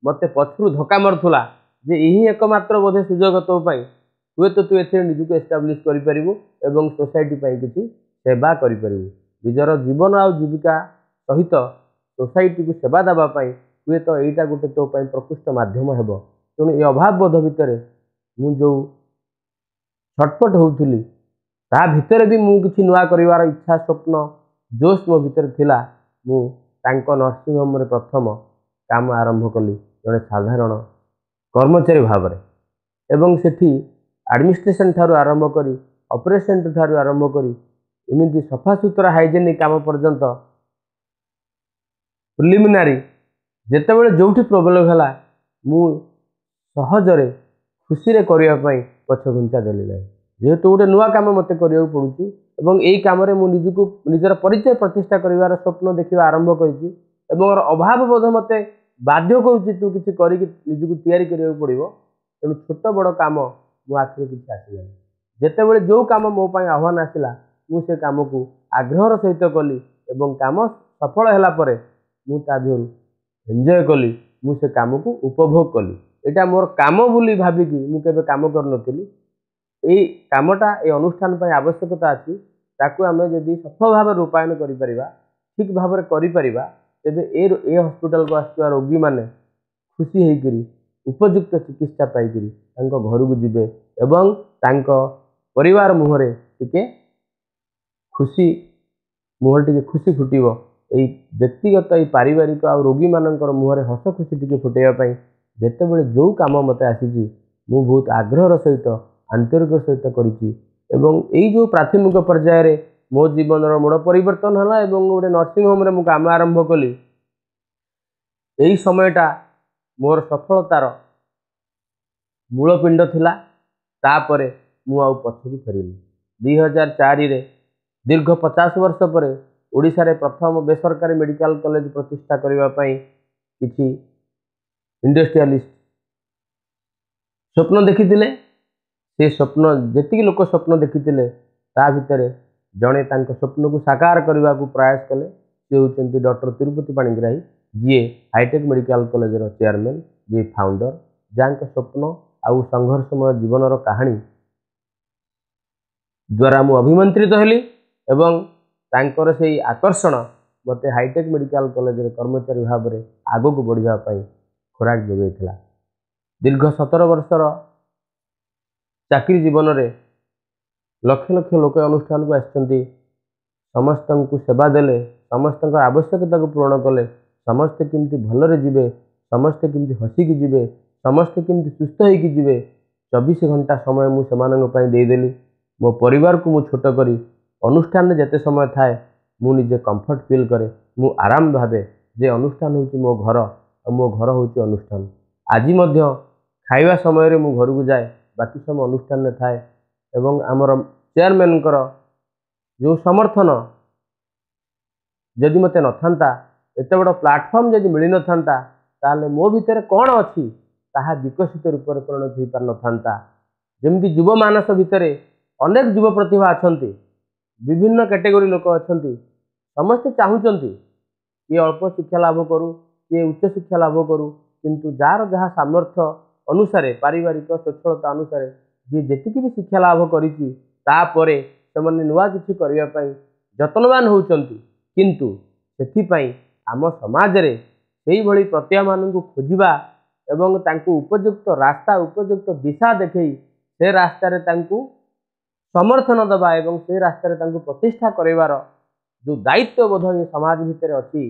ମୋତେ ପଛରୁ ଧକ୍କା ମାରୁଥିଲା ଯେ ଏହି ଏକମାତ୍ର ବୋଧେ ସୁଯୋଗ ତୋ ପାଇଁ, ହୁଏତ ତୁ ଏଥିରେ ନିଜକୁ ଏଷ୍ଟାବ୍ଲିଶ କରିପାରିବୁ ଏବଂ ସୋସାଇଟି ପାଇଁ କିଛି ସେବା କରିପାରିବୁ। ନିଜର ଜୀବନ ଆଉ ଜୀବିକା ସହିତ ସୋସାଇଟିକୁ ସେବା ଦେବା ପାଇଁ ହୁଏତ ଏଇଟା ଗୋଟେ ତୋ ପାଇଁ ପ୍ରକୃଷ୍ଟ ମାଧ୍ୟମ ହେବ। ତେଣୁ ଏ ଅଭାବ ବୋଧ ଭିତରେ ମୁଁ ଯେଉଁ ଛଟପଟ ହେଉଥିଲି, ତା ଭିତରେ ବି ମୁଁ କିଛି ନୂଆ କରିବାର ଇଚ୍ଛା, ସ୍ୱପ୍ନ, ଜୋସ୍ ମୋ ଭିତରେ ଥିଲା। ମୁଁ ତାଙ୍କ ନର୍ସିଂ ହୋମ୍ରେ ପ୍ରଥମ କାମ ଆରମ୍ଭ କଲି ଜଣେ ସାଧାରଣ କର୍ମଚାରୀ ଭାବରେ, ଏବଂ ସେଠି ଆଡ଼ମିନିଷ୍ଟ୍ରେସନ୍ ଠାରୁ ଆରମ୍ଭ କରି ଅପରେସନ୍ ଠାରୁ ଆରମ୍ଭ କରି ଏମିତି ସଫାସୁତୁରା ହାଇଜେନିକ୍ କାମ ପର୍ଯ୍ୟନ୍ତ ପ୍ରିଲିମିନାରୀ ଯେତେବେଳେ ଯେଉଁଠି ପ୍ରୋବ୍ଲେମ୍ ହେଲା, ମୁଁ ସହଜରେ ଖୁସିରେ କରିବା ପାଇଁ ପଛଘୁଞ୍ଚା ଦେଲି ନାହିଁ। ଯେହେତୁ ଗୋଟେ ନୂଆ କାମ ମୋତେ କରିବାକୁ ପଡ଼ୁଛି ଏବଂ ଏଇ କାମରେ ମୁଁ ନିଜକୁ ନିଜର ପରିଚୟ ପ୍ରତିଷ୍ଠା କରିବାର ସ୍ୱପ୍ନ ଦେଖିବା ଆରମ୍ଭ କରିଛି ଏବଂ ଅଭାବ ବୋଧ ମୋତେ ବାଧ୍ୟ କରୁଛି ତୁ କିଛି କରିକି ନିଜକୁ ତିଆରି କରିବାକୁ ପଡ଼ିବ, ତେଣୁ ଛୋଟ ବଡ଼ କାମ ମୋ ଆଖିରେ କିଛି ଆସିଲାନି। ଯେତେବେଳେ ଯେଉଁ କାମ ମୋ ପାଇଁ ଆହ୍ୱାନ ଆସିଲା, ମୁଁ ସେ କାମକୁ ଆଗ୍ରହର ସହିତ କଲି ଏବଂ କାମ ସଫଳ ହେଲା ପରେ ମୁଁ ତା ଦେହରୁ ଏନ୍ଜୟ କଲି, ମୁଁ ସେ କାମକୁ ଉପଭୋଗ କଲି। ଏଇଟା ମୋର କାମ ବୋଲି ଭାବିକି ମୁଁ କେବେ କାମ କରିନଥିଲି। ଏଇ କାମଟା ଏ ଅନୁଷ୍ଠାନ ପାଇଁ ଆବଶ୍ୟକତା ଅଛି, ତାକୁ ଆମେ ଯଦି ସଫଳ ଭାବରେ ରୂପାୟନ କରିପାରିବା, ଠିକ୍ ଭାବରେ କରିପାରିବା, ତେବେ ଏ ଏ ହସ୍ପିଟାଲକୁ ଆସୁଥିବା ରୋଗୀମାନେ ଖୁସି ହେଇକରି ଉପଯୁକ୍ତ ଚିକିତ୍ସା ପାଇକରି ତାଙ୍କ ଘରକୁ ଯିବେ ଏବଂ ତାଙ୍କ ପରିବାର ମୁହଁରେ ଟିକେ ଖୁସି ମୁହଁରେ ଟିକେ ଖୁସି ଫୁଟିବ। ଏଇ ବ୍ୟକ୍ତିଗତ, ଏଇ ପାରିବାରିକ ଆଉ ରୋଗୀମାନଙ୍କର ମୁହଁରେ ହସ ଖୁସି ଟିକେ ଫୁଟେଇବା ପାଇଁ ଯେତେବେଳେ ଯେଉଁ କାମ ମୋତେ ଆସିଛି, ମୁଁ ବହୁତ ଆଗ୍ରହର ସହିତ, ଆନ୍ତରିକ ସହିତ କରିଛି। ଏବଂ ଏଇ ଯେଉଁ ପ୍ରାଥମିକ ପର୍ଯ୍ୟାୟରେ ମୋ ଜୀବନର ମୋଡ଼ ପରିବର୍ତ୍ତନ ହେଲା ଏବଂ ଗୋଟେ ନର୍ସିଂ ହୋମ୍ରେ ମୁଁ କାମ ଆରମ୍ଭ କଲି, ଏଇ ସମୟଟା ମୋର ସଫଳତାର ମୂଳପିଣ୍ଡ ଥିଲା। ତାପରେ ମୁଁ ଆଉ ପଛକୁ ଫେରିନି। ଦୁଇ ହଜାର ଚାରିରେ ଦୀର୍ଘ ପଚାଶ ବର୍ଷ ପରେ ଓଡ଼ିଶାରେ ପ୍ରଥମ ବେସରକାରୀ ମେଡ଼ିକାଲ କଲେଜ ପ୍ରତିଷ୍ଠା କରିବା ପାଇଁ କିଛି ଇଣ୍ଡଷ୍ଟ୍ରିଆଲିଷ୍ଟ ସ୍ୱପ୍ନ ଦେଖିଥିଲେ। ସେ ସ୍ୱପ୍ନ, ଯେତିକି ଲୋକ ସ୍ୱପ୍ନ ଦେଖିଥିଲେ, ତା ଭିତରେ ଜଣେ ତାଙ୍କ ସ୍ୱପ୍ନକୁ ସାକାର କରିବାକୁ ପ୍ରୟାସ କଲେ। ସେ ହେଉଛନ୍ତି ଡକ୍ଟର ତିରୁପତି ପାଣିଗ୍ରାହୀ, ଯିଏ ହାଇଟେକ୍ ମେଡ଼ିକାଲ କଲେଜର ଚେୟାରମ୍ୟାନ୍, ଯିଏ ଫାଉଣ୍ଡର, ଯାହାଙ୍କ ସ୍ୱପ୍ନ ଆଉ ସଂଘର୍ଷମୟ ଜୀବନର କାହାଣୀ ଦ୍ୱାରା ମୁଁ ଅଭିମନ୍ତ୍ରିତ ହେଲି ଏବଂ ତାଙ୍କର ସେଇ ଆକର୍ଷଣ ମୋତେ ହାଇଟେକ୍ ମେଡ଼ିକାଲ କଲେଜରେ କର୍ମଚାରୀ ଭାବରେ ଆଗକୁ ବଢ଼ିବା ପାଇଁ ଖୋରାକ ଯୋଗାଇଥିଲା। ଦୀର୍ଘ ସତର ବର୍ଷର ଚାକିରି ଜୀବନରେ ଲକ୍ଷ ଲକ୍ଷ ଲୋକ ଅନୁଷ୍ଠାନକୁ ଆସିଛନ୍ତି, ସମସ୍ତଙ୍କୁ ସେବା ଦେଲେ, ସମସ୍ତଙ୍କ ଆବଶ୍ୟକତାକୁ ପୂରଣ କଲେ ସମସ୍ତେ କେମିତି ଭଲରେ ଯିବେ, ସମସ୍ତେ କେମିତି ହସିକି ଯିବେ, ସମସ୍ତେ କେମିତି ସୁସ୍ଥ ହେଇକି ଯିବେ, ଚବିଶ ଘଣ୍ଟା ସମୟ ମୁଁ ସେମାନଙ୍କ ପାଇଁ ଦେଇଦେଲି। ମୋ ପରିବାରକୁ ମୁଁ ଛୋଟ କରି ଅନୁଷ୍ଠାନରେ ଯେତେ ସମୟ ଥାଏ ମୁଁ ନିଜେ କମ୍ଫର୍ଟ ଫିଲ୍ କରେ, ମୁଁ ଆରାମ ଭାବେ ଯେ ଅନୁଷ୍ଠାନ ହେଉଛି ମୋ ଘର ଆଉ ମୋ ଘର ହେଉଛି ଅନୁଷ୍ଠାନ। ଆଜି ମଧ୍ୟ ଖାଇବା ସମୟରେ ମୁଁ ଘରକୁ ଯାଏ, ବାକି ସମୟ ଅନୁଷ୍ଠାନରେ ଥାଏ। ଏବଂ ଆମର ଚେୟାରମ୍ୟାନଙ୍କର ଯେଉଁ ସମର୍ଥନ ଯଦି ମୋତେ ନଥାନ୍ତା, ଏତେ ବଡ଼ ପ୍ଲାଟଫର୍ମ ଯଦି ମିଳିନଥାନ୍ତା, ତାହେଲେ ମୋ ଭିତରେ କ'ଣ ଅଛି ତାହା ବିକଶିତ ରୂପରେ ପରିଣତ ହେଇପାରିନଥାନ୍ତା। ଯେମିତି ଯୁବ ମାନସ ଭିତରେ ଅନେକ ଯୁବ ପ୍ରତିଭା ଅଛନ୍ତି, ବିଭିନ୍ନ କ୍ୟାଟେଗୋରୀ ଲୋକ ଅଛନ୍ତି, ସମସ୍ତେ ଚାହୁଁଛନ୍ତି କିଏ ଅଳ୍ପ ଶିକ୍ଷା ଲାଭ କରୁ, କିଏ ଉଚ୍ଚ ଶିକ୍ଷା ଲାଭ କରୁ, କିନ୍ତୁ ଯାହାର ଯାହା ସାମର୍ଥ୍ୟ ଅନୁସାରେ, ପାରିବାରିକ ସ୍ୱଚ୍ଛଳତା ଅନୁସାରେ ଯିଏ ଯେତିକି ବି ଶିକ୍ଷା ଲାଭ କରିଛି, ତାପରେ ସେମାନେ ନୂଆ କିଛି କରିବା ପାଇଁ ଯତ୍ନବାନ ହେଉଛନ୍ତି। କିନ୍ତୁ ସେଥିପାଇଁ ଆମ ସମାଜରେ ସେଇଭଳି ପ୍ରତିଭାମାନଙ୍କୁ ଖୋଜିବା ଏବଂ ତାଙ୍କୁ ଉପଯୁକ୍ତ ରାସ୍ତା, ଉପଯୁକ୍ତ ଦିଶା ଦେଖେଇ ସେ ରାସ୍ତାରେ ତାଙ୍କୁ ସମର୍ଥନ ଦେବା ଏବଂ ସେ ରାସ୍ତାରେ ତାଙ୍କୁ ପ୍ରତିଷ୍ଠା କରିବାର ଯେଉଁ ଦାୟିତ୍ୱବୋଧ ଏ ସମାଜ ଭିତରେ ଅଛି,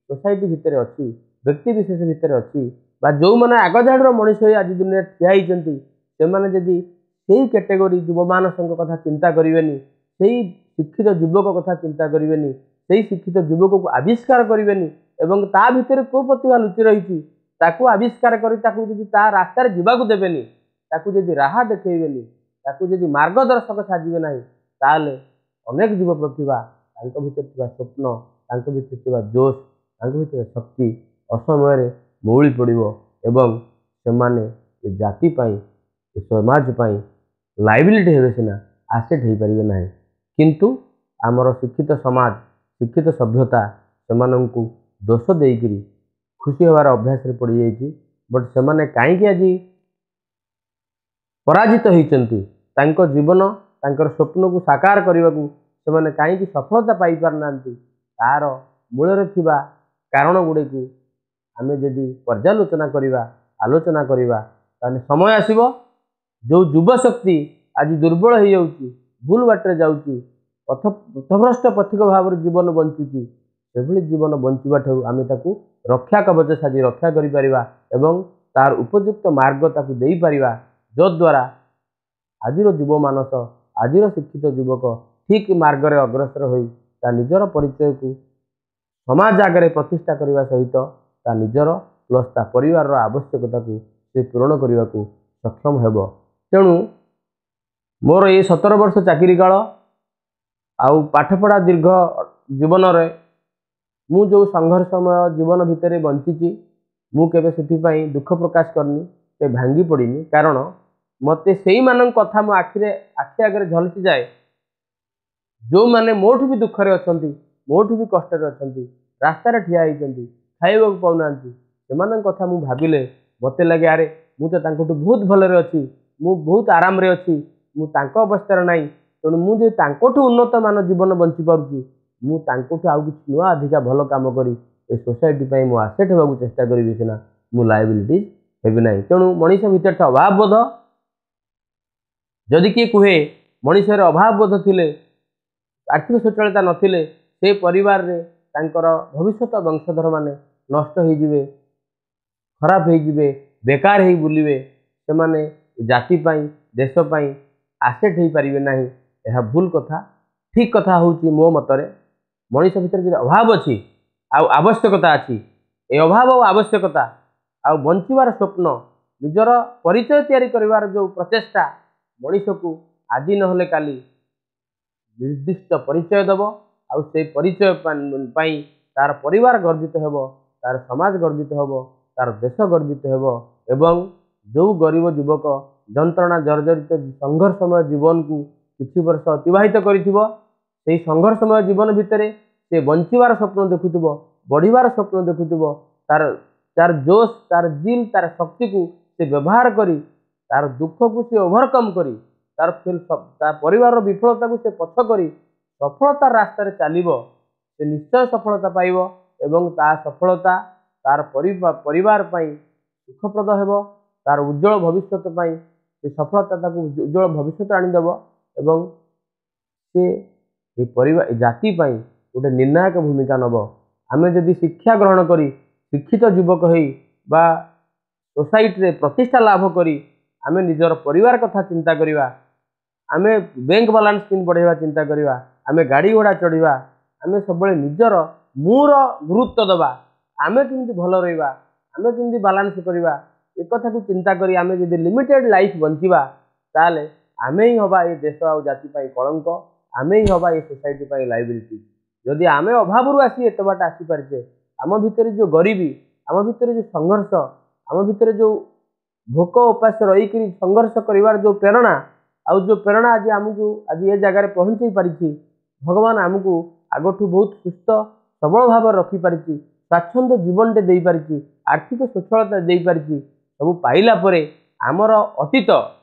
ସୋସାଇଟି ଭିତରେ ଅଛି, ବ୍ୟକ୍ତି ବିଶେଷ ଭିତରେ ଅଛି, ବା ଯେଉଁମାନେ ଆଗଧାଡ଼ିର ମଣିଷ ହୋଇ ଆଜି ଦୁନିଆରେ ଠିଆ ହେଇଛନ୍ତି, ସେମାନେ ଯଦି ସେଇ କ୍ୟାଟେଗୋରୀ ଯୁବମାନସଙ୍କ କଥା ଚିନ୍ତା କରିବେନି, ସେଇ ଶିକ୍ଷିତ ଯୁବକ କଥା ଚିନ୍ତା କରିବେନି, ସେଇ ଶିକ୍ଷିତ ଯୁବକକୁ ଆବିଷ୍କାର କରିବେନି ଏବଂ ତା ଭିତରେ କେଉଁ ପ୍ରତିଭା ଲୁଚି ରହିଛି ତାକୁ ଆବିଷ୍କାର କରି ତାକୁ ଯଦି ତା ରାସ୍ତାରେ ଯିବାକୁ ଦେବେନି, ତାକୁ ଯଦି ରାହା ଦେଖେଇବେନି, ତାକୁ ଯଦି ମାର୍ଗଦର୍ଶକ ସାଜିବେ ନାହିଁ, ତାହେଲେ ଅନେକ ଯୁବ ପ୍ରତିଭା ତାଙ୍କ ଭିତରେ ଥିବା ସ୍ୱପ୍ନ, ତାଙ୍କ ଭିତରେ ଥିବା ଜୋଶ, ତାଙ୍କ ଭିତରେ ଶକ୍ତି ଅସମୟରେ ମଉଳି ପଡ଼ିବ ଏବଂ ସେମାନେ ଏ ଜାତି ପାଇଁ, ଏ ସମାଜ ପାଇଁ ଲାଇବିଲିଟି ହେବେ ସିନା, ଆସେଟ୍ ହେଇପାରିବେ ନାହିଁ। କିନ୍ତୁ ଆମର ଶିକ୍ଷିତ ସମାଜ, ଶିକ୍ଷିତ ସଭ୍ୟତା ସେମାନଙ୍କୁ ଦୋଷ ଦେଇକରି ଖୁସି ହେବାର ଅଭ୍ୟାସରେ ପଡ଼ିଯାଇଛି। ବଟ୍ ସେମାନେ କାହିଁକି ଆଜି ପରାଜିତ ହେଇଛନ୍ତି, ତାଙ୍କ ଜୀବନ, ତାଙ୍କର ସ୍ୱପ୍ନକୁ ସାକାର କରିବାକୁ ସେମାନେ କାହିଁକି ସଫଳତା ପାଇପାରୁନାହାନ୍ତି, ତାର ମୂଳରେ ଥିବା କାରଣ ଗୁଡ଼ିକୁ ଆମେ ଯଦି ପର୍ଯ୍ୟାଲୋଚନା କରିବା, ଆଲୋଚନା କରିବା, ତାହେଲେ ସମୟ ଆସିବ ଯେଉଁ ଯୁବଶକ୍ତି ଆଜି ଦୁର୍ବଳ ହେଇଯାଉଛି, ଭୁଲ ବାଟରେ ଯାଉଛି, ପଥ ପଥଭ୍ରଷ୍ଟ ପଥିକ ଭାବରେ ଜୀବନ ବଞ୍ଚୁଛି, ସେଭଳି ଜୀବନ ବଞ୍ଚିବା ଠାରୁ ଆମେ ତାକୁ ରକ୍ଷା କବଚ ସାଜି ରକ୍ଷା କରିପାରିବା ଏବଂ ତାର ଉପଯୁକ୍ତ ମାର୍ଗ ତାକୁ ଦେଇପାରିବା, ଯଦ୍ୱାରା ଆଜିର ଯୁବମାନସ, ଆଜିର ଶିକ୍ଷିତ ଯୁବକ ଠିକ୍ ମାର୍ଗରେ ଅଗ୍ରସର ହୋଇ ତା ନିଜର ପରିଚୟକୁ ସମାଜ ଆଗରେ ପ୍ରତିଷ୍ଠା କରିବା ସହିତ ତା ନିଜର ପ୍ଲସ୍ ତା ପରିବାରର ଆବଶ୍ୟକତାକୁ ସେ ପୂରଣ କରିବାକୁ ସକ୍ଷମ ହେବ। ତେଣୁ ମୋର ଏଇ ସତର ବର୍ଷ ଚାକିରି କାଳ ଆଉ ପାଠପଢ଼ା ଦୀର୍ଘ ଜୀବନରେ ମୁଁ ଯେଉଁ ସଂଘର୍ଷମୟ ଜୀବନ ଭିତରେ ବଞ୍ଚିଛି, ମୁଁ କେବେ ସେଥିପାଇଁ ଦୁଃଖ ପ୍ରକାଶ କରିନି, କେବେ ଭାଙ୍ଗି ପଡ଼ିନି। କାରଣ ମୋତେ ସେଇମାନଙ୍କ କଥା ମୋ ଆଖିରେ ଆଖି ଆଗରେ ଝଲସି ଯାଏ, ଯେଉଁମାନେ ମୋଠୁ ବି ଦୁଃଖରେ ଅଛନ୍ତି, ମୋଠୁ ବି କଷ୍ଟରେ ଅଛନ୍ତି, ରାସ୍ତାରେ ଠିଆ ହେଇଛନ୍ତି, ଖାଇବାକୁ ପାଉନାହାନ୍ତି, ସେମାନଙ୍କ କଥା ମୁଁ ଭାବିଲେ ମୋତେ ଲାଗେ ଆରେ ମୁଁ ତ ତାଙ୍କଠୁ ବହୁତ ଭଲରେ ଅଛି, ମୁଁ ବହୁତ ଆରାମରେ ଅଛି, ମୁଁ ତାଙ୍କ ଅବସ୍ଥାରେ ନାହିଁ। ତେଣୁ ମୁଁ ଯଦି ତାଙ୍କଠୁ ଉନ୍ନତମାନ ଜୀବନ ବଞ୍ଚିପାରୁଛି, ମୁଁ ତାଙ୍କଠୁ ଆଉ କିଛି ନୂଆ ଅଧିକା ଭଲ କାମ କରି ଏ ସୋସାଇଟି ପାଇଁ ମୁଁ ଆସେଟ୍ ହେବାକୁ ଚେଷ୍ଟା କରିବି ସିନା, ମୁଁ ଲାଇବିଲିଟି ହେବି ନାହିଁ। ତେଣୁ ମଣିଷ ଭିତରେ ଅଭାବବୋଧ, ଯଦି କିଏ କୁହେ ମଣିଷର ଅଭାବବୋଧ ଥିଲେ, ଆର୍ଥିକ ସଚଳତା ନଥିଲେ ସେ ପରିବାରରେ ତାଙ୍କର ଭବିଷ୍ୟତ ବଂଶଧରମାନେ ନଷ୍ଟ ହେଇଯିବେ, ଖରାପ ହେଇଯିବେ, ବେକାର ହେଇ ବୁଲିବେ, ସେମାନେ ଜାତି ପାଇଁ, ଦେଶ ପାଇଁ ଆସେଟ୍ ହେଇପାରିବେ ନାହିଁ, ଏହା ଭୁଲ କଥା। ଠିକ୍ କଥା ହେଉଛି ମୋ ମତରେ ମଣିଷ ଭିତରେ ଯଦି ଅଭାବ ଅଛି ଆଉ ଆବଶ୍ୟକତା ଅଛି, ଏ ଅଭାବ ଆଉ ଆବଶ୍ୟକତା ଆଉ ବଞ୍ଚିବାର ସ୍ୱପ୍ନ, ନିଜର ପରିଚୟ ତିଆରି କରିବାର ଯେଉଁ ପ୍ରଚେଷ୍ଟା ମଣିଷକୁ ଆଜି ନହେଲେ କାଲି ନିର୍ଦ୍ଦିଷ୍ଟ ପରିଚୟ ଦେବ, ଆଉ ସେଇ ପରିଚୟ ପାଇଁ ତାର ପରିବାର ଗର୍ବିତ ହେବ, ତାର ସମାଜ ଗର୍ବିତ ହେବ, ତାର ଦେଶ ଗର୍ବିତ ହେବ। ଏବଂ ଯେଉଁ ଗରିବ ଯୁବକ ଯନ୍ତ୍ରଣା ଜର୍ଜରିତ ସଂଘର୍ଷମୟ ଜୀବନକୁ କିଛି ବର୍ଷ ଅତିବାହିତ କରିଥିବ, ସେଇ ସଂଘର୍ଷମୟ ଜୀବନ ଭିତରେ ସେ ବଞ୍ଚିବାର ସ୍ୱପ୍ନ ଦେଖୁଥିବ, ବଢ଼ିବାର ସ୍ୱପ୍ନ ଦେଖୁଥିବ, ତାର ତାର ଜୋଶ, ତାର ଜିଲ୍, ତାର ଶକ୍ତିକୁ ସେ ବ୍ୟବହାର କରି ତାର ଦୁଃଖକୁ ସେ ଓଭରକମ୍ କରି ତାର ତା ପରିବାରର ବିଫଳତାକୁ ସେ ପଛ କରି ସଫଳତାର ରାସ୍ତାରେ ଚାଲିବ, ସେ ନିଶ୍ଚୟ ସଫଳତା ପାଇବ ଏବଂ ତା ସଫଳତା ତାର ପରିବାର ପାଇଁ ସୁଖପ୍ରଦ ହେବ, ତାର ଉଜ୍ଜଳ ଭବିଷ୍ୟତ ପାଇଁ ସେ ସଫଳତା ତାକୁ ଉଜ୍ଜଳ ଭବିଷ୍ୟତ ଆଣିଦେବ ଏବଂ ସେ ଏ ପରିବାର, ଏ ଜାତି ପାଇଁ, ଗୋଟେ ନିର୍ଣ୍ଣାୟକ ଭୂମିକା ନେବ। ଆମେ ଯଦି ଶିକ୍ଷା ଗ୍ରହଣ କରି ଶିକ୍ଷିତ ଯୁବକ ହେଇ ବା ସୋସାଇଟିରେ ପ୍ରତିଷ୍ଠା ଲାଭ କରି ଆମେ ନିଜର ପରିବାର କଥା ଚିନ୍ତା କରିବା, ଆମେ ବ୍ୟାଙ୍କ ବାଲାନ୍ସ କେମିତି ବଢ଼େଇବା ଚିନ୍ତା କରିବା, ଆମେ ଗାଡ଼ି ଘୋଡ଼ା ଚଢ଼ିବା, ଆମେ ସବୁବେଳେ ନିଜର ମୁଁର ଗୁରୁତ୍ୱ ଦେବା, ଆମେ କେମିତି ଭଲ ରହିବା, ଆମେ କେମିତି ବାଲାନ୍ସ କରିବା, ଏକଥାକୁ ଚିନ୍ତା କରି ଆମେ ଯଦି ଲିମିଟେଡ଼ ଲାଇଫ୍ ବଞ୍ଚିବା, ତାହେଲେ ଆମେ ହିଁ ହେବା ଏ ଦେଶ ଆଉ ଜାତି ପାଇଁ କଳଙ୍କ, ଆମେ ହିଁ ହେବା ଏ ସୋସାଇଟି ପାଇଁ ଲାଇବିଲିଟି। ଯଦି ଆମେ ଅଭାବରୁ ଆସି ଏତେ ବାଟ ଆସିପାରିଛେ, ଆମ ଭିତରେ ଯେଉଁ ଗରିବୀ, ଆମ ଭିତରେ ଯେଉଁ ସଂଘର୍ଷ, ଆମ ଭିତରେ ଯେଉଁ ଭୋକ ଉପାସ ରହିକରି ସଂଘର୍ଷ କରିବାର ଯେଉଁ ପ୍ରେରଣା, ଆଉ ଯେଉଁ ପ୍ରେରଣା ଆଜି ଆମକୁ ଆଜି ଏ ଜାଗାରେ ପହଞ୍ଚେଇ ପାରିଛି, ଭଗବାନ ଆମକୁ ଆଗଠୁ ବହୁତ ସୁସ୍ଥ ସବଳ ଭାବରେ ରଖିପାରିଛି, ସ୍ୱାଚ୍ଛନ୍ଦ ଜୀବନଟେ ଦେଇପାରିଛି, ଆର୍ଥିକ ସ୍ୱଚ୍ଛଳତା ଦେଇପାରିଛି, ସବୁ ପାଇଲା ପରେ ଆମର ଅତୀତ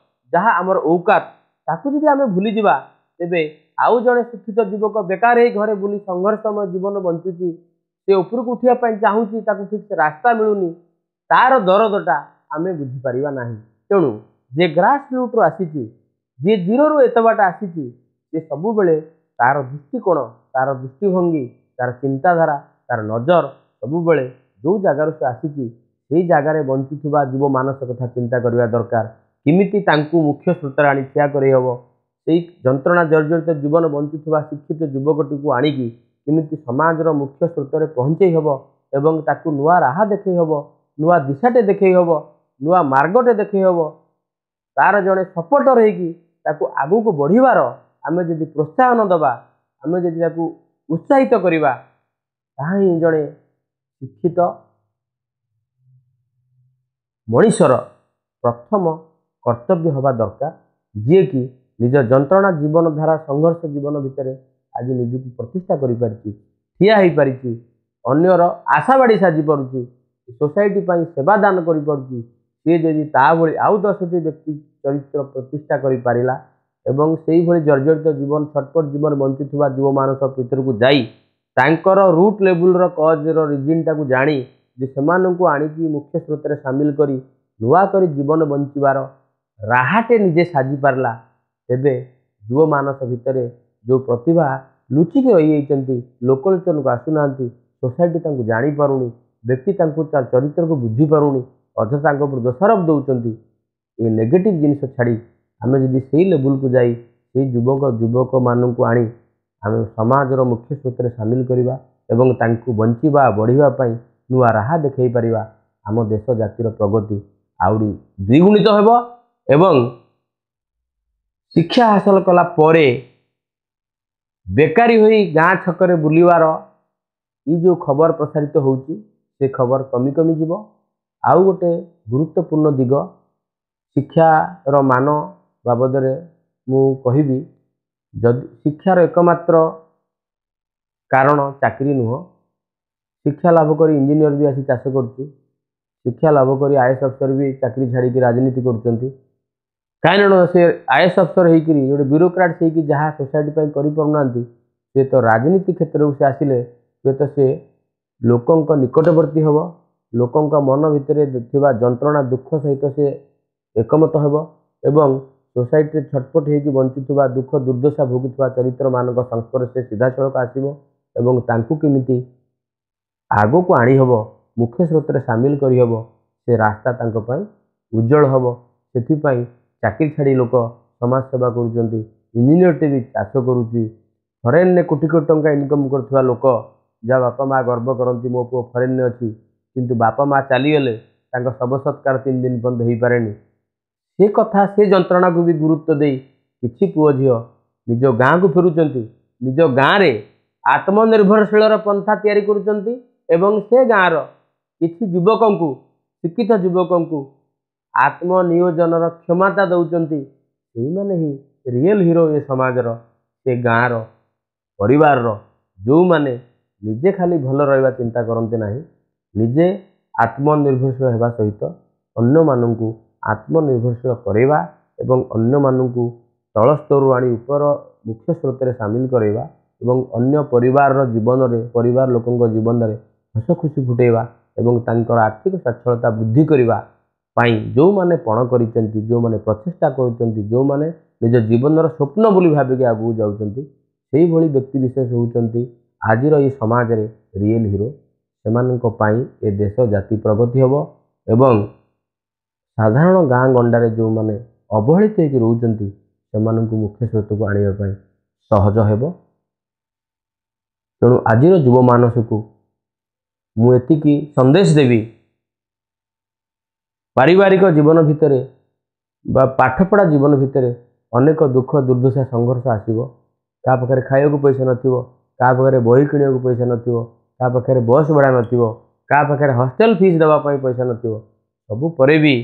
ଯାହା ଆମର ଔକାତ ତାକୁ ଯଦି ଆମେ ଭୁଲିଯିବା, ତେବେ ଆଉ ଜଣେ ଶିକ୍ଷିତ ଯୁବକ ବେକାର ହେଇ ଘରେ ବୁଲି ସଂଘର୍ଷମୟ ଜୀବନ ବଞ୍ଚୁଛି, ସେ ଉପରକୁ ଉଠିବା ପାଇଁ ଚାହୁଁଛି, ତାକୁ ଠିକ୍ ସେ ରାସ୍ତା ମିଳୁନି, ତାର ଦରଦଟା ଆମେ ବୁଝିପାରିବା ନାହିଁ। ତେଣୁ ଯିଏ ଗ୍ରାସ ରୁଟ୍ରୁ ଆସିଛି, ଯିଏ ଜିରୋରୁ ଏତେ ବାଟ ଆସିଛି, ସେ ସବୁବେଳେ ତାର ଦୃଷ୍ଟିକୋଣ, ତାର ଦୃଷ୍ଟିଭଙ୍ଗୀ, ତାର ଚିନ୍ତାଧାରା, ତାର ନଜର ସବୁବେଳେ ଯେଉଁ ଜାଗାରୁ ସେ ଆସିଛି ସେଇ ଜାଗାରେ ବଞ୍ଚୁଥିବା ଯୁବ ମାନସ କଥା ଚିନ୍ତା କରିବା ଦରକାର। କେମିତି ତାଙ୍କୁ ମୁଖ୍ୟ ସ୍ରୋତରେ ଆଣି ଠିଆ କରେଇ ହେବ, ସେଇ ଯନ୍ତ୍ରଣା ଜର୍ଜରିତ ଜୀବନ ବଞ୍ଚୁଥିବା ଶିକ୍ଷିତ ଯୁବକଟିକୁ ଆଣିକି କେମିତି ସମାଜର ମୁଖ୍ୟ ସ୍ରୋତରେ ପହଞ୍ଚେଇ ହେବ ଏବଂ ତାକୁ ନୂଆ ରାହା ଦେଖେଇ ହେବ, ନୂଆ ଦିଶାଟେ ଦେଖେଇ ହେବ, ନୂଆ ମାର୍ଗଟେ ଦେଖେଇ ହେବ, ତାର ଜଣେ ସପୋର୍ଟର ହେଇକି ତାକୁ ଆଗକୁ ବଢ଼ିବାର ଆମେ ଯଦି ପ୍ରୋତ୍ସାହନ ଦେବା, ଆମେ ଯଦି ତାକୁ ଉତ୍ସାହିତ କରିବା, ତାହା ହିଁ ଜଣେ ଶିକ୍ଷିତ ମଣିଷର ପ୍ରଥମ କର୍ତ୍ତବ୍ୟ ହେବା ଦରକାର, ଯିଏକି ନିଜ ଯନ୍ତ୍ରଣା ଜୀବନଧାରା ସଂଘର୍ଷ ଜୀବନ ଭିତରେ ଆଜି ନିଜକୁ ପ୍ରତିଷ୍ଠା କରିପାରିଛି, ଠିଆ ହେଇପାରିଛି, ଅନ୍ୟର ଆଶାବାଡ଼ି ସାଜି ପାରୁଛି, ସୋସାଇଟି ପାଇଁ ସେବା ଦାନ କରିପାରୁଛି। ସିଏ ଯଦି ତା ଭଳି ଆଉ ଦଶଟି ବ୍ୟକ୍ତି ଚରିତ୍ର ପ୍ରତିଷ୍ଠା କରିପାରିଲା ଏବଂ ସେଇଭଳି ଜର୍ଜରିତ ଜୀବନ ଛଟପଟ ଜୀବନ ବଞ୍ଚୁଥିବା ଯୁବମାନସ ଭିତରକୁ ଯାଇ ତାଙ୍କର ରୁଟ୍ ଲେବୁଲ୍ର କଜ୍ର ରିଜିନ୍ଟାକୁ ଜାଣି ଯେ ସେମାନଙ୍କୁ ଆଣିକି ମୁଖ୍ୟ ସ୍ରୋତରେ ସାମିଲ କରି ନୂଆ କରି ଜୀବନ ବଞ୍ଚିବାର ରାହାଟେ ନିଜେ ସାଜିପାରିଲା, ତେବେ ଯୁବମାନସ ଭିତରେ ଯେଉଁ ପ୍ରତିଭା ଲୁଚିକି ରହିଯାଇଛନ୍ତି, ଲୋକଲୋଚନକୁ ଆସୁନାହାନ୍ତି, ସୋସାଇଟି ତାଙ୍କୁ ଜାଣିପାରୁନି, ବ୍ୟକ୍ତି ତାଙ୍କୁ ତା ଚରିତ୍ରକୁ ବୁଝିପାରୁନି, ଅଯଥା ତାଙ୍କ ଉପରେ ଦୋଷାରୋପ ଦେଉଛନ୍ତି, ଏ ନେଗେଟିଭ୍ ଜିନିଷ ଛାଡ଼ି ଆମେ ଯଦି ସେଇ ଲେବୁଲ୍କୁ ଯାଇ ସେଇ ଯୁବକ ଯୁବକମାନଙ୍କୁ ଆଣି ଆମେ ସମାଜର ମୁଖ୍ୟ ସ୍ରୋତରେ ସାମିଲ କରିବା ଏବଂ ତାଙ୍କୁ ବଞ୍ଚିବା ବଢ଼ିବା ପାଇଁ ନୂଆ ରାହା ଦେଖାଇ ପାରିବା, ଆମ ଦେଶ ଜାତିର ପ୍ରଗତି ଆହୁରି ଦ୍ୱିଗୁଣିତ ହେବ। ଏବଂ ଶିକ୍ଷା ହାସଲ କଲା ପରେ ବେକାରୀ ହୋଇ ଗାଁ ଛକରେ ବୁଲିବାର ଏଇ ଯେଉଁ ଖବର ପ୍ରସାରିତ ହେଉଛି, ସେ ଖବର କମି କମି ଯିବ। ଆଉ ଗୋଟେ ଗୁରୁତ୍ୱପୂର୍ଣ୍ଣ ଦିଗ ଶିକ୍ଷାର ମାନ ବାବଦରେ ମୁଁ କହିବି, ଯଦି ଶିକ୍ଷାର ଏକମାତ୍ର କାରଣ ଚାକିରି ନୁହଁ, ଶିକ୍ଷା ଲାଭ କରି ଇଞ୍ଜିନିୟର ବି ଆସି ଚାଷ କରୁଛି, ଶିକ୍ଷା ଲାଭ କରି I S ଅଫିସର ବି ଚାକିରି ଛାଡ଼ିକି ରାଜନୀତି କରୁଛନ୍ତି। କାରଣ ସେ I S ଅଫିସର ହେଇକିରି ଗୋଟେ ବ୍ୟୁରୋକ୍ରାଟ୍ସ ହେଇକି ଯାହା ସୋସାଇଟି ପାଇଁ କରିପାରୁନାହାନ୍ତି, ହୁଏତ ରାଜନୀତି କ୍ଷେତ୍ରକୁ ସେ ଆସିଲେ ହୁଏତ ସେ ଲୋକଙ୍କ ନିକଟବର୍ତ୍ତୀ ହେବ, ଲୋକଙ୍କ ମନ ଭିତରେ ଥିବା ଯନ୍ତ୍ରଣା ଦୁଃଖ ସହିତ ସେ ଏକମତ ହେବ ଏବଂ ସୋସାଇଟିରେ ଛଟପଟ ହେଇକି ବଞ୍ଚୁଥିବା ଦୁଃଖ ଦୁର୍ଦ୍ଦଶା ଭୋଗୁଥିବା ଚରିତ୍ରମାନଙ୍କ ସଂସ୍ପର୍ଶରେ ସିଧାସଳଖ ଆସିବ ଏବଂ ତାଙ୍କୁ କେମିତି ଆଗକୁ ଆଣିହେବ, ମୁଖ୍ୟ ସ୍ରୋତରେ ସାମିଲ କରିହେବ, ସେ ରାସ୍ତା ତାଙ୍କ ପାଇଁ ଉଜ୍ଜଳ ହେବ। ସେଥିପାଇଁ ଚାକିରି ଛାଡ଼ି ଲୋକ ସମାଜ ସେବା କରୁଛନ୍ତି, ଇଞ୍ଜିନିୟରଟେ ବି ଚାଷ କରୁଛି, ଫରେନ୍ରେ କୋଟି କୋଟି ଟଙ୍କା ଇନକମ୍ କରୁଥିବା ଲୋକ, ଯାହା ବାପା ମା ଗର୍ବ କରନ୍ତି ମୋ ପୁଅ ଫରେନ୍ରେ ଅଛି, କିନ୍ତୁ ବାପା ମା ଚାଲିଗଲେ ତାଙ୍କ ଶବ ସତ୍କାର ତିନି ଦିନ ପର୍ଯ୍ୟନ୍ତ ହେଇପାରେନି। ସେ କଥା, ସେ ଯନ୍ତ୍ରଣାକୁ ବି ଗୁରୁତ୍ୱ ଦେଇ କିଛି ପୁଅ ଝିଅ ନିଜ ଗାଁକୁ ଫେରୁଛନ୍ତି, ନିଜ ଗାଁରେ ଆତ୍ମନିର୍ଭରଶୀଳର ପନ୍ଥା ତିଆରି କରୁଛନ୍ତି ଏବଂ ସେ ଗାଁର କିଛି ଯୁବକଙ୍କୁ, ଶିକ୍ଷିତ ଯୁବକଙ୍କୁ ଆତ୍ମନିୟୋଜନର କ୍ଷମତା ଦେଉଛନ୍ତି। ସେଇମାନେ ହିଁ ରିଏଲ୍ ହିରୋ ଏ ସମାଜର, ସେ ଗାଁର, ପରିବାରର, ଯେଉଁମାନେ ନିଜେ ଖାଲି ଭଲ ରହିବା ଚିନ୍ତା କରନ୍ତି ନାହିଁ, ନିଜେ ଆତ୍ମନିର୍ଭରଶୀଳ ହେବା ସହିତ ଅନ୍ୟମାନଙ୍କୁ ଆତ୍ମନିର୍ଭରଶୀଳ କରାଇବା ଏବଂ ଅନ୍ୟମାନଙ୍କୁ ତଳ ସ୍ତରରୁ ଆଣି ଉପର ମୁଖ୍ୟ ସ୍ରୋତରେ ସାମିଲ କରାଇବା ଏବଂ ଅନ୍ୟ ପରିବାରର ଜୀବନରେ, ପରିବାର ଲୋକଙ୍କ ଜୀବନରେ ହସ ଖୁସି ଫୁଟେଇବା ଏବଂ ତାଙ୍କର ଆର୍ଥିକ ସ୍ୱଚ୍ଛଳତା ବୃଦ୍ଧି କରିବା ପାଇଁ ଯେଉଁମାନେ ପଣ କରିଛନ୍ତି, ଯେଉଁମାନେ ପ୍ରଚେଷ୍ଟା କରୁଛନ୍ତି, ଯେଉଁମାନେ ନିଜ ଜୀବନର ସ୍ୱପ୍ନ ବୋଲି ଭାବିକି ଆଗକୁ ଯାଉଛନ୍ତି, ସେଇଭଳି ବ୍ୟକ୍ତି ବିଶେଷ ହେଉଛନ୍ତି ଆଜିର ଏଇ ସମାଜରେ ରିଏଲ୍ ହିରୋ। ସେମାନଙ୍କ ପାଇଁ ଏ ଦେଶ ଜାତି ପ୍ରଗତି ହେବ ଏବଂ ସାଧାରଣ ଗାଁ ଗଣ୍ଡାରେ ଯେଉଁମାନେ ଅବହେଳିତ ହେଇକି ରହୁଛନ୍ତି, ସେମାନଙ୍କୁ ମୁଖ୍ୟ ସ୍ରୋତକୁ ଆଣିବା ପାଇଁ ସହଜ ହେବ। ତେଣୁ ଆଜିର ଯୁବମାନସକୁ ମୁଁ ଏତିକି ସନ୍ଦେଶ ଦେବି, ପାରିବାରିକ ଜୀବନ ଭିତରେ ବା ପାଠପଢ଼ା ଜୀବନ ଭିତରେ ଅନେକ ଦୁଃଖ, ଦୁର୍ଦ୍ଦଶା, ସଂଘର୍ଷ ଆସିବ। କାହା ପାଖରେ ଖାଇବାକୁ ପଇସା ନଥିବ, କାହା ପାଖରେ ବହି କିଣିବାକୁ ପଇସା ନଥିବ, କାହା ପାଖରେ ବସ୍ ଭଡ଼ା ନଥିବ, କାହା ପାଖରେ ହଷ୍ଟେଲ ଫିସ୍ ଦେବା ପାଇଁ ପଇସା ନଥିବ। ସବୁ ପରେ ବି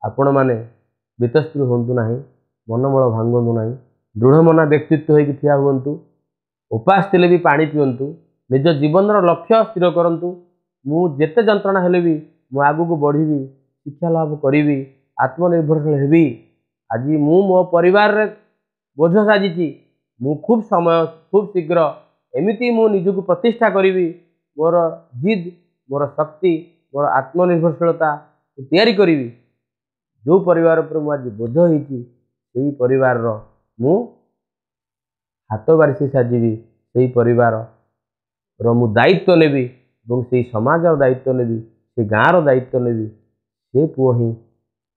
ଆପଣମାନେ ବିତସ୍ତୃ ହୁଅନ୍ତୁ ନାହିଁ, ମନୋବଳ ଭାଙ୍ଗନ୍ତୁ ନାହିଁ, ଦୃଢ଼ମନା ବ୍ୟକ୍ତିତ୍ୱ ହେଇକି ଠିଆ ହୁଅନ୍ତୁ। ଉପାସ ଥିଲେ ବି ପାଣି ପିଅନ୍ତୁ। ନିଜ ଜୀବନର ଲକ୍ଷ୍ୟ ସ୍ଥିର କରନ୍ତୁ। ମୁଁ ଯେତେ ଯନ୍ତ୍ରଣା ହେଲେ ବି ମୁଁ ଆଗକୁ ବଢ଼ିବି, ଶିକ୍ଷା ଲାଭ କରିବି, ଆତ୍ମନିର୍ଭରଶୀଳ ହେବି। ଆଜି ମୁଁ ମୋ ପରିବାରରେ ବୋଝ ସାଜିଛି, ମୁଁ ଖୁବ୍ ସମୟ ଖୁବ୍ ଶୀଘ୍ର ଏମିତି ମୁଁ ନିଜକୁ ପ୍ରତିଷ୍ଠା କରିବି। ମୋର ଜିଦ୍, ମୋର ଶକ୍ତି, ମୋର ଆତ୍ମନିର୍ଭରଶୀଳତା ତିଆରି କରିବି। ଯେଉଁ ପରିବାର ଉପରେ ମୁଁ ଆଜି ବୋଝ ହେଇଛି, ସେଇ ପରିବାରର ମୁଁ ହାତ ବାରିସି ସାଜିବି, ସେଇ ପରିବାରର ମୁଁ ଦାୟିତ୍ୱ ନେବି ଏବଂ ସେଇ ସମାଜର ଦାୟିତ୍ୱ ନେବି, ସେ ଗାଁର ଦାୟିତ୍ୱ ନେବି। ସେ ପୁଅ ହିଁ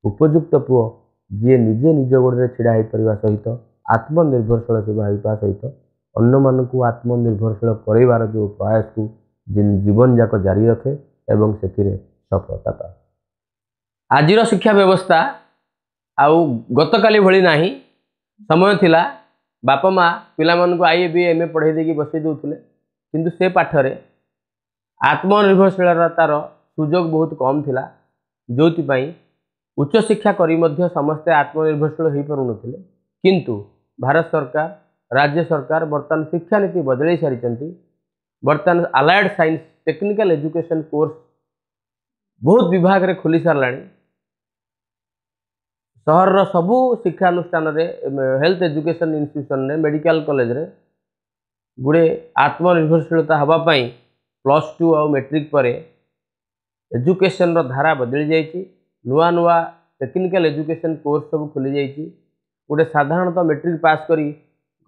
ଉପଯୁକ୍ତ ପୁଅ, ଯିଏ ନିଜେ ନିଜ ଗୋଡ଼ରେ ଛିଡ଼ା ହେଇପାରିବା ସହିତ ଆତ୍ମନିର୍ଭରଶୀଳ ସେବା ହେବା ସହିତ ଅନ୍ୟମାନଙ୍କୁ ଆତ୍ମନିର୍ଭରଶୀଳ କରାଇବାର ଯେଉଁ ପ୍ରୟାସକୁ ଜୀବନ ଯାକ ଜାରି ରଖେ ଏବଂ ସେଥିରେ ସଫଳତା ପାଏ। ଆଜିର ଶିକ୍ଷା ବ୍ୟବସ୍ଥା ଆଉ ଗତକାଲି ଭଳି ନାହିଁ। ସମୟ ଥିଲା ବାପା ମା ପିଲାମାନଙ୍କୁ I A, B, M A ପଢ଼େଇ ଦେଇକି ବସେଇ ଦେଉଥିଲେ, କିନ୍ତୁ ସେ ପାଠରେ ଆତ୍ମନିର୍ଭରଶୀଳତାର ସୁଯୋଗ ବହୁତ କମ୍ ଥିଲା, ଯେଉଁଥିପାଇଁ ଉଚ୍ଚଶିକ୍ଷା କରି ମଧ୍ୟ ସମସ୍ତେ ଆତ୍ମନିର୍ଭରଶୀଳ ହୋଇପାରୁନଥିଲେ। କିନ୍ତୁ ଭାରତ ସରକାର, ରାଜ୍ୟ ସରକାର ବର୍ତ୍ତମାନ ଶିକ୍ଷାନୀତି ବଦଳାଇ ସାରିଛନ୍ତି। ବର୍ତ୍ତମାନ allied science technical education course ବହୁତ ବିଭାଗରେ ଖୋଲି ସାରିଲାଣି। ସହରର ସବୁ ଶିକ୍ଷାନୁଷ୍ଠାନରେ, ହେଲ୍ଥ ଏଜୁକେସନ୍ ଇନଷ୍ଟିଟ୍ୟୁସନରେ, ମେଡ଼ିକାଲ କଲେଜରେ ଗୁଡ଼ିଏ ଆତ୍ମନିର୍ଭରଶୀଳତା ହେବା ପାଇଁ ପ୍ଲସ୍ ଟୁ ଆଉ ମେଟ୍ରିକ୍ ପରେ ଏଜୁକେସନ୍ର ଧାରା ବଦଳି ଯାଇଛି। ନୂଆ ନୂଆ ଟେକ୍ନିକାଲ ଏଜୁକେସନ୍ କୋର୍ସ ସବୁ ଖୋଲିଯାଇଛି। ଗୋଟେ ସାଧାରଣତଃ ମେଟ୍ରିକ୍ ପାସ୍ କରି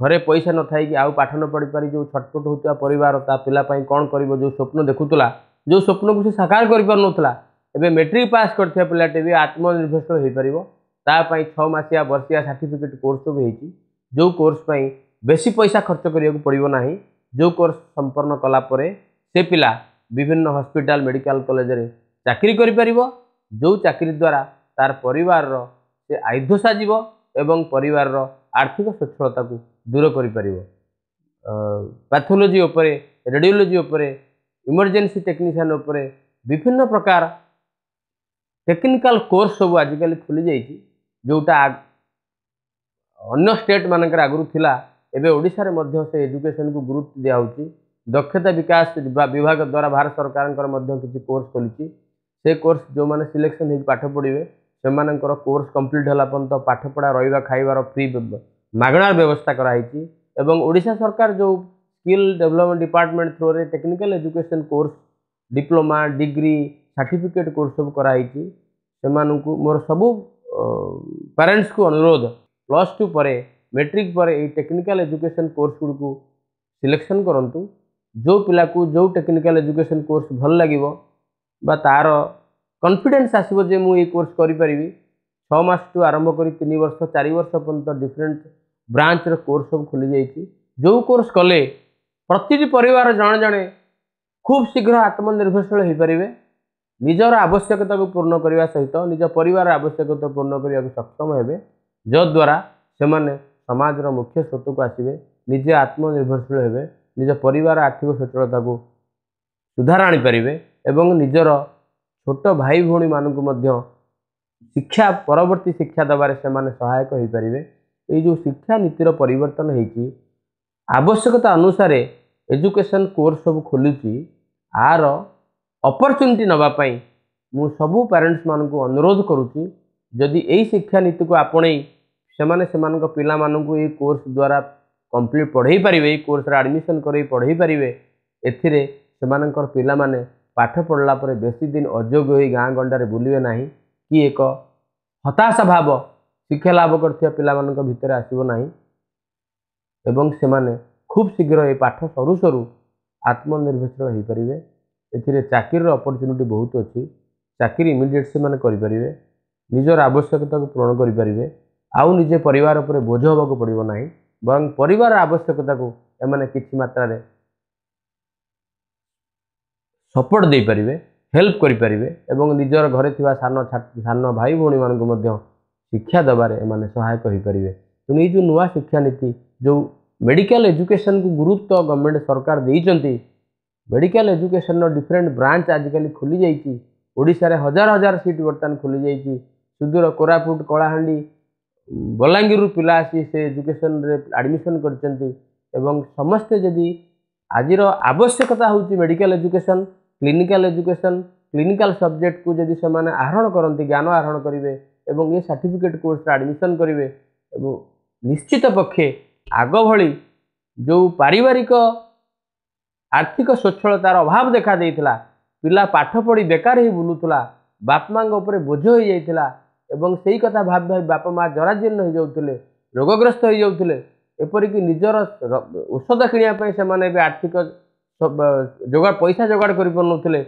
ଘରେ ପଇସା ନଥାଇକି ଆଉ ପାଠ ନ ପଢ଼ିପାରି ଯେଉଁ ଛଟପଟ ହେଉଥିବା ପରିବାର ତା ପିଲା ପାଇଁ କ'ଣ କରିବ, ଯେଉଁ ସ୍ୱପ୍ନ ଦେଖୁଥିଲା, ଯେଉଁ ସ୍ୱପ୍ନକୁ ସେ ସାକାର କରିପାରୁନଥିଲା, ଏବେ ମେଟ୍ରିକ୍ ପାସ୍ କରିଥିବା ପିଲାଟି ବି ଆତ୍ମନିର୍ଭରଶୀଳ ହୋଇପାରିବ। ତା ପାଇଁ ଛଅ ମାସିଆ, ବର୍ଷିଆ ସାର୍ଟିଫିକେଟ୍ କୋର୍ସ ସବୁ ହେଇଛି, ଯେଉଁ କୋର୍ସ ପାଇଁ ବେଶୀ ପଇସା ଖର୍ଚ୍ଚ କରିବାକୁ ପଡ଼ିବ ନାହିଁ, ଯେଉଁ କୋର୍ସ ସମ୍ପନ୍ନ କଲା ପରେ ସେ ପିଲା ବିଭିନ୍ନ ହସ୍ପିଟାଲ, ମେଡ଼ିକାଲ କଲେଜରେ ଚାକିରି କରିପାରିବ, ଯେଉଁ ଚାକିରି ଦ୍ୱାରା ତାର ପରିବାରର ସେ ଆୟୁଧ ସାଜିବ ଏବଂ ପରିବାରର ଆର୍ଥିକ ସ୍ୱଚ୍ଛଳତାକୁ ଦୂର କରିପାରିବ। ପାଥୋଲୋଜି ଉପରେ, ରେଡ଼ିଓଲୋଜି ଉପରେ, ଇମର୍ଜେନ୍ସି ଟେକ୍ନିସିଆନ୍ ଉପରେ ବିଭିନ୍ନ ପ୍ରକାର ଟେକ୍ନିକାଲ କୋର୍ସ ସବୁ ଆଜିକାଲି ଖୋଲିଯାଇଛି, ଯେଉଁଟା ଅନ୍ୟ ଷ୍ଟେଟ୍ ମାନଙ୍କରେ ଆଗରୁ ଥିଲା। ଏବେ ଓଡ଼ିଶାରେ ମଧ୍ୟ ସେ ଏଜୁକେସନକୁ ଗୁରୁତ୍ୱ ଦିଆହେଉଛି। ଦକ୍ଷତା ବିକାଶ ବିଭାଗ ଦ୍ୱାରା ଭାରତ ସରକାରଙ୍କର ମଧ୍ୟ କିଛି କୋର୍ସ ଖୋଲିଛି। ସେ କୋର୍ସ ଯେଉଁମାନେ ସିଲେକ୍ସନ୍ ହେଇକି ପାଠ ପଢ଼ିବେ, ସେମାନଙ୍କର କୋର୍ସ କମ୍ପ୍ଲିଟ୍ ହେଲା ପର୍ଯ୍ୟନ୍ତ ପାଠପଢ଼ା, ରହିବା, ଖାଇବାର ଫ୍ରି ମାଗଣାର ବ୍ୟବସ୍ଥା କରାହେଇଛି। ଏବଂ ଓଡ଼ିଶା ସରକାର ଯେଉଁ ସ୍କିଲ୍ ଡେଭଲପମେଣ୍ଟ ଡିପାର୍ଟମେଣ୍ଟ ଥ୍ରୋରେ technical education course, diploma, degree, certificate course ସବୁ କରାହେଇଛି, ସେମାନଙ୍କୁ ମୋର ସବୁ ପ୍ୟାରେଣ୍ଟସକୁ ଅନୁରୋଧ, ପ୍ଲସ୍ ଟୁ ପରେ, ମେଟ୍ରିକ୍ ପରେ ଏଇ ଟେକ୍ନିକାଲ ଏଜୁକେସନ୍ କୋର୍ସ ଗୁଡ଼ିକୁ ସିଲେକ୍ସନ୍ କରନ୍ତୁ। ଯେଉଁ ପିଲାକୁ ଯେଉଁ ଟେକ୍ନିକାଲ ଏଜୁକେସନ୍ କୋର୍ସ ଭଲ ଲାଗିବ ବା ତା'ର କନଫିଡେନ୍ସ ଆସିବ ଯେ ମୁଁ ଏଇ କୋର୍ସ କରିପାରିବି, ଛଅ ମାସଠୁ ଆରମ୍ଭ କରି ତିନି ବର୍ଷ, ଚାରି ବର୍ଷ ପର୍ଯ୍ୟନ୍ତ ଡିଫରେଣ୍ଟ ବ୍ରାଞ୍ଚର କୋର୍ସ ସବୁ ଖୋଲିଯାଇଛି, ଯେଉଁ କୋର୍ସ କଲେ ପ୍ରତିଟି ପରିବାର ଜଣେ ଜଣେ ଖୁବ୍ ଶୀଘ୍ର ଆତ୍ମନିର୍ଭରଶୀଳ ହୋଇପାରିବେ, ନିଜର ଆବଶ୍ୟକତାକୁ ପୂର୍ଣ୍ଣ କରିବା ସହିତ ନିଜ ପରିବାର ଆବଶ୍ୟକତା ପୂର୍ଣ୍ଣ କରିବାକୁ ସକ୍ଷମ ହେବେ, ଯଦ୍ୱାରା ସେମାନେ ସମାଜର ମୁଖ୍ୟ ସ୍ରୋତକୁ ଆସିବେ, ନିଜେ ଆତ୍ମନିର୍ଭରଶୀଳ ହେବେ, ନିଜ ପରିବାର ଆର୍ଥିକ ସଚଳତାକୁ ସୁଧାର ଆଣିପାରିବେ ଏବଂ ନିଜର ଛୋଟ ଭାଇ ଭଉଣୀମାନଙ୍କୁ ମଧ୍ୟ ଶିକ୍ଷା, ପରବର୍ତ୍ତୀ ଶିକ୍ଷା ଦେବାରେ ସେମାନେ ସହାୟକ ହୋଇପାରିବେ। ଏଇ ଯେଉଁ ଶିକ୍ଷା ନୀତିର ପରିବର୍ତ୍ତନ ହେଇଛି, ଆବଶ୍ୟକତା ଅନୁସାରେ ଏଜୁକେସନ୍ କୋର୍ସ ସବୁ ଖୋଲୁଛି, ଆର ଅପରଚ୍ୟୁନିଟି ନେବା ପାଇଁ ମୁଁ ସବୁ ପ୍ୟାରେଣ୍ଟସମାନଙ୍କୁ ଅନୁରୋଧ କରୁଛି। ଯଦି ଏଇ ଶିକ୍ଷାନୀତିକୁ ଆପଣେଇ ସେମାନେ ସେମାନଙ୍କ ପିଲାମାନଙ୍କୁ ଏଇ କୋର୍ସ ଦ୍ୱାରା କମ୍ପ୍ଲିଟ୍ ପଢ଼େଇ ପାରିବେ, ଏଇ କୋର୍ସରେ ଆଡ଼ମିସନ୍ କରେଇ ପଢ଼େଇ ପାରିବେ, ଏଥିରେ ସେମାନଙ୍କର ପିଲାମାନେ ପାଠ ପଢ଼ିଲା ପରେ ବେଶୀ ଦିନ ଅଯୋଗ୍ୟ ହୋଇ ଗାଁ ଗଣ୍ଡାରେ ବୁଲିବେ ନାହିଁ କି ଏକ ହତାଶା ଭାବ ଶିକ୍ଷା ଲାଭ କରିଥିବା ପିଲାମାନଙ୍କ ଭିତରେ ଆସିବ ନାହିଁ ଏବଂ ସେମାନେ ଖୁବ୍ ଶୀଘ୍ର ଏ ପାଠ ସରୁ ସରୁ ଆତ୍ମନିର୍ଭରଶୀଳ ହୋଇପାରିବେ। ଏଥିରେ ଚାକିରିର ଅପରଚ୍ୟୁନିଟି ବହୁତ ଅଛି। ଚାକିରି ଇମିଡ଼ିଏଟ୍ ସେମାନେ କରିପାରିବେ, ନିଜର ଆବଶ୍ୟକତାକୁ ପୂରଣ କରିପାରିବେ, ଆଉ ନିଜେ ପରିବାର ଉପରେ ବୋଝ ହେବାକୁ ପଡ଼ିବ ନାହିଁ, ବରଂ ପରିବାର ଆବଶ୍ୟକତାକୁ ଏମାନେ କିଛି ମାତ୍ରାରେ ସପୋର୍ଟ ଦେଇପାରିବେ, ହେଲ୍ପ କରିପାରିବେ ଏବଂ ନିଜର ଘରେ ଥିବା ସାନ ସାନ ଭାଇ ଭଉଣୀମାନଙ୍କୁ ମଧ୍ୟ ଶିକ୍ଷା ଦେବାରେ ଏମାନେ ସହାୟକ ହୋଇପାରିବେ। ତେଣୁ ଏଇ ଯେଉଁ ନୂଆ ଶିକ୍ଷାନୀତି, ଯେଉଁ ମେଡ଼ିକାଲ ଏଜୁକେସନକୁ ଗୁରୁତ୍ୱ ଗଭର୍ଣ୍ଣମେଣ୍ଟ ସରକାର ଦେଇଛନ୍ତି, ମେଡ଼ିକାଲ ଏଜୁକେସନର ଡିଫରେଣ୍ଟ ବ୍ରାଞ୍ଚ ଆଜିକାଲି ଖୋଲିଯାଇଛି। ଓଡ଼ିଶାରେ ହଜାର ହଜାର ସିଟ୍ ବର୍ତ୍ତମାନ ଖୋଲିଯାଇଛି। ସୁଦୂର କୋରାପୁଟ, କଳାହାଣ୍ଡି, ବଲାଙ୍ଗୀରରୁ ପିଲା ଆସି ସେ ଏଜୁକେସନରେ ଆଡ଼ମିସନ୍ କରିଛନ୍ତି ଏବଂ ସମସ୍ତେ ଯଦି ଆଜିର ଆବଶ୍ୟକତା ହେଉଛି medical education, clinical education, clinical ସବଜେକ୍ଟକୁ ଯଦି ସେମାନେ ଆହରଣ କରନ୍ତି, ଜ୍ଞାନ ଆହରଣ କରିବେ ଏବଂ ଏ ସାର୍ଟିଫିକେଟ୍ କୋର୍ସରେ ଆଡ଼ମିସନ୍ କରିବେ ଏବଂ ନିଶ୍ଚିତ ପକ୍ଷେ ଆଗ ଭଳି ଯେଉଁ ପାରିବାରିକ ଆର୍ଥିକ ସ୍ୱଚ୍ଛଳତାର ଅଭାବ ଦେଖା ଦେଇଥିଲା, ପିଲା ପାଠ ପଢ଼ି ବେକାର ହେଇ ବୁଲୁଥିଲା, ବାପା ମାଆଙ୍କ ଉପରେ ବୋଝ ହୋଇଯାଇଥିଲା ଏବଂ ସେଇ କଥା ଭାବି ଭାବି ବାପା ମା ଜରାଜୀର୍ଣ୍ଣ ହେଇଯାଉଥିଲେ, ରୋଗଗ୍ରସ୍ତ ହେଇଯାଉଥିଲେ, ଏପରିକି ନିଜର ଔଷଧ କିଣିବା ପାଇଁ ସେମାନେ ଏବେ ଆର୍ଥିକ ଯୋଗାଡ଼ ପଇସା ଯୋଗାଡ଼ କରିପାରୁନଥିଲେ,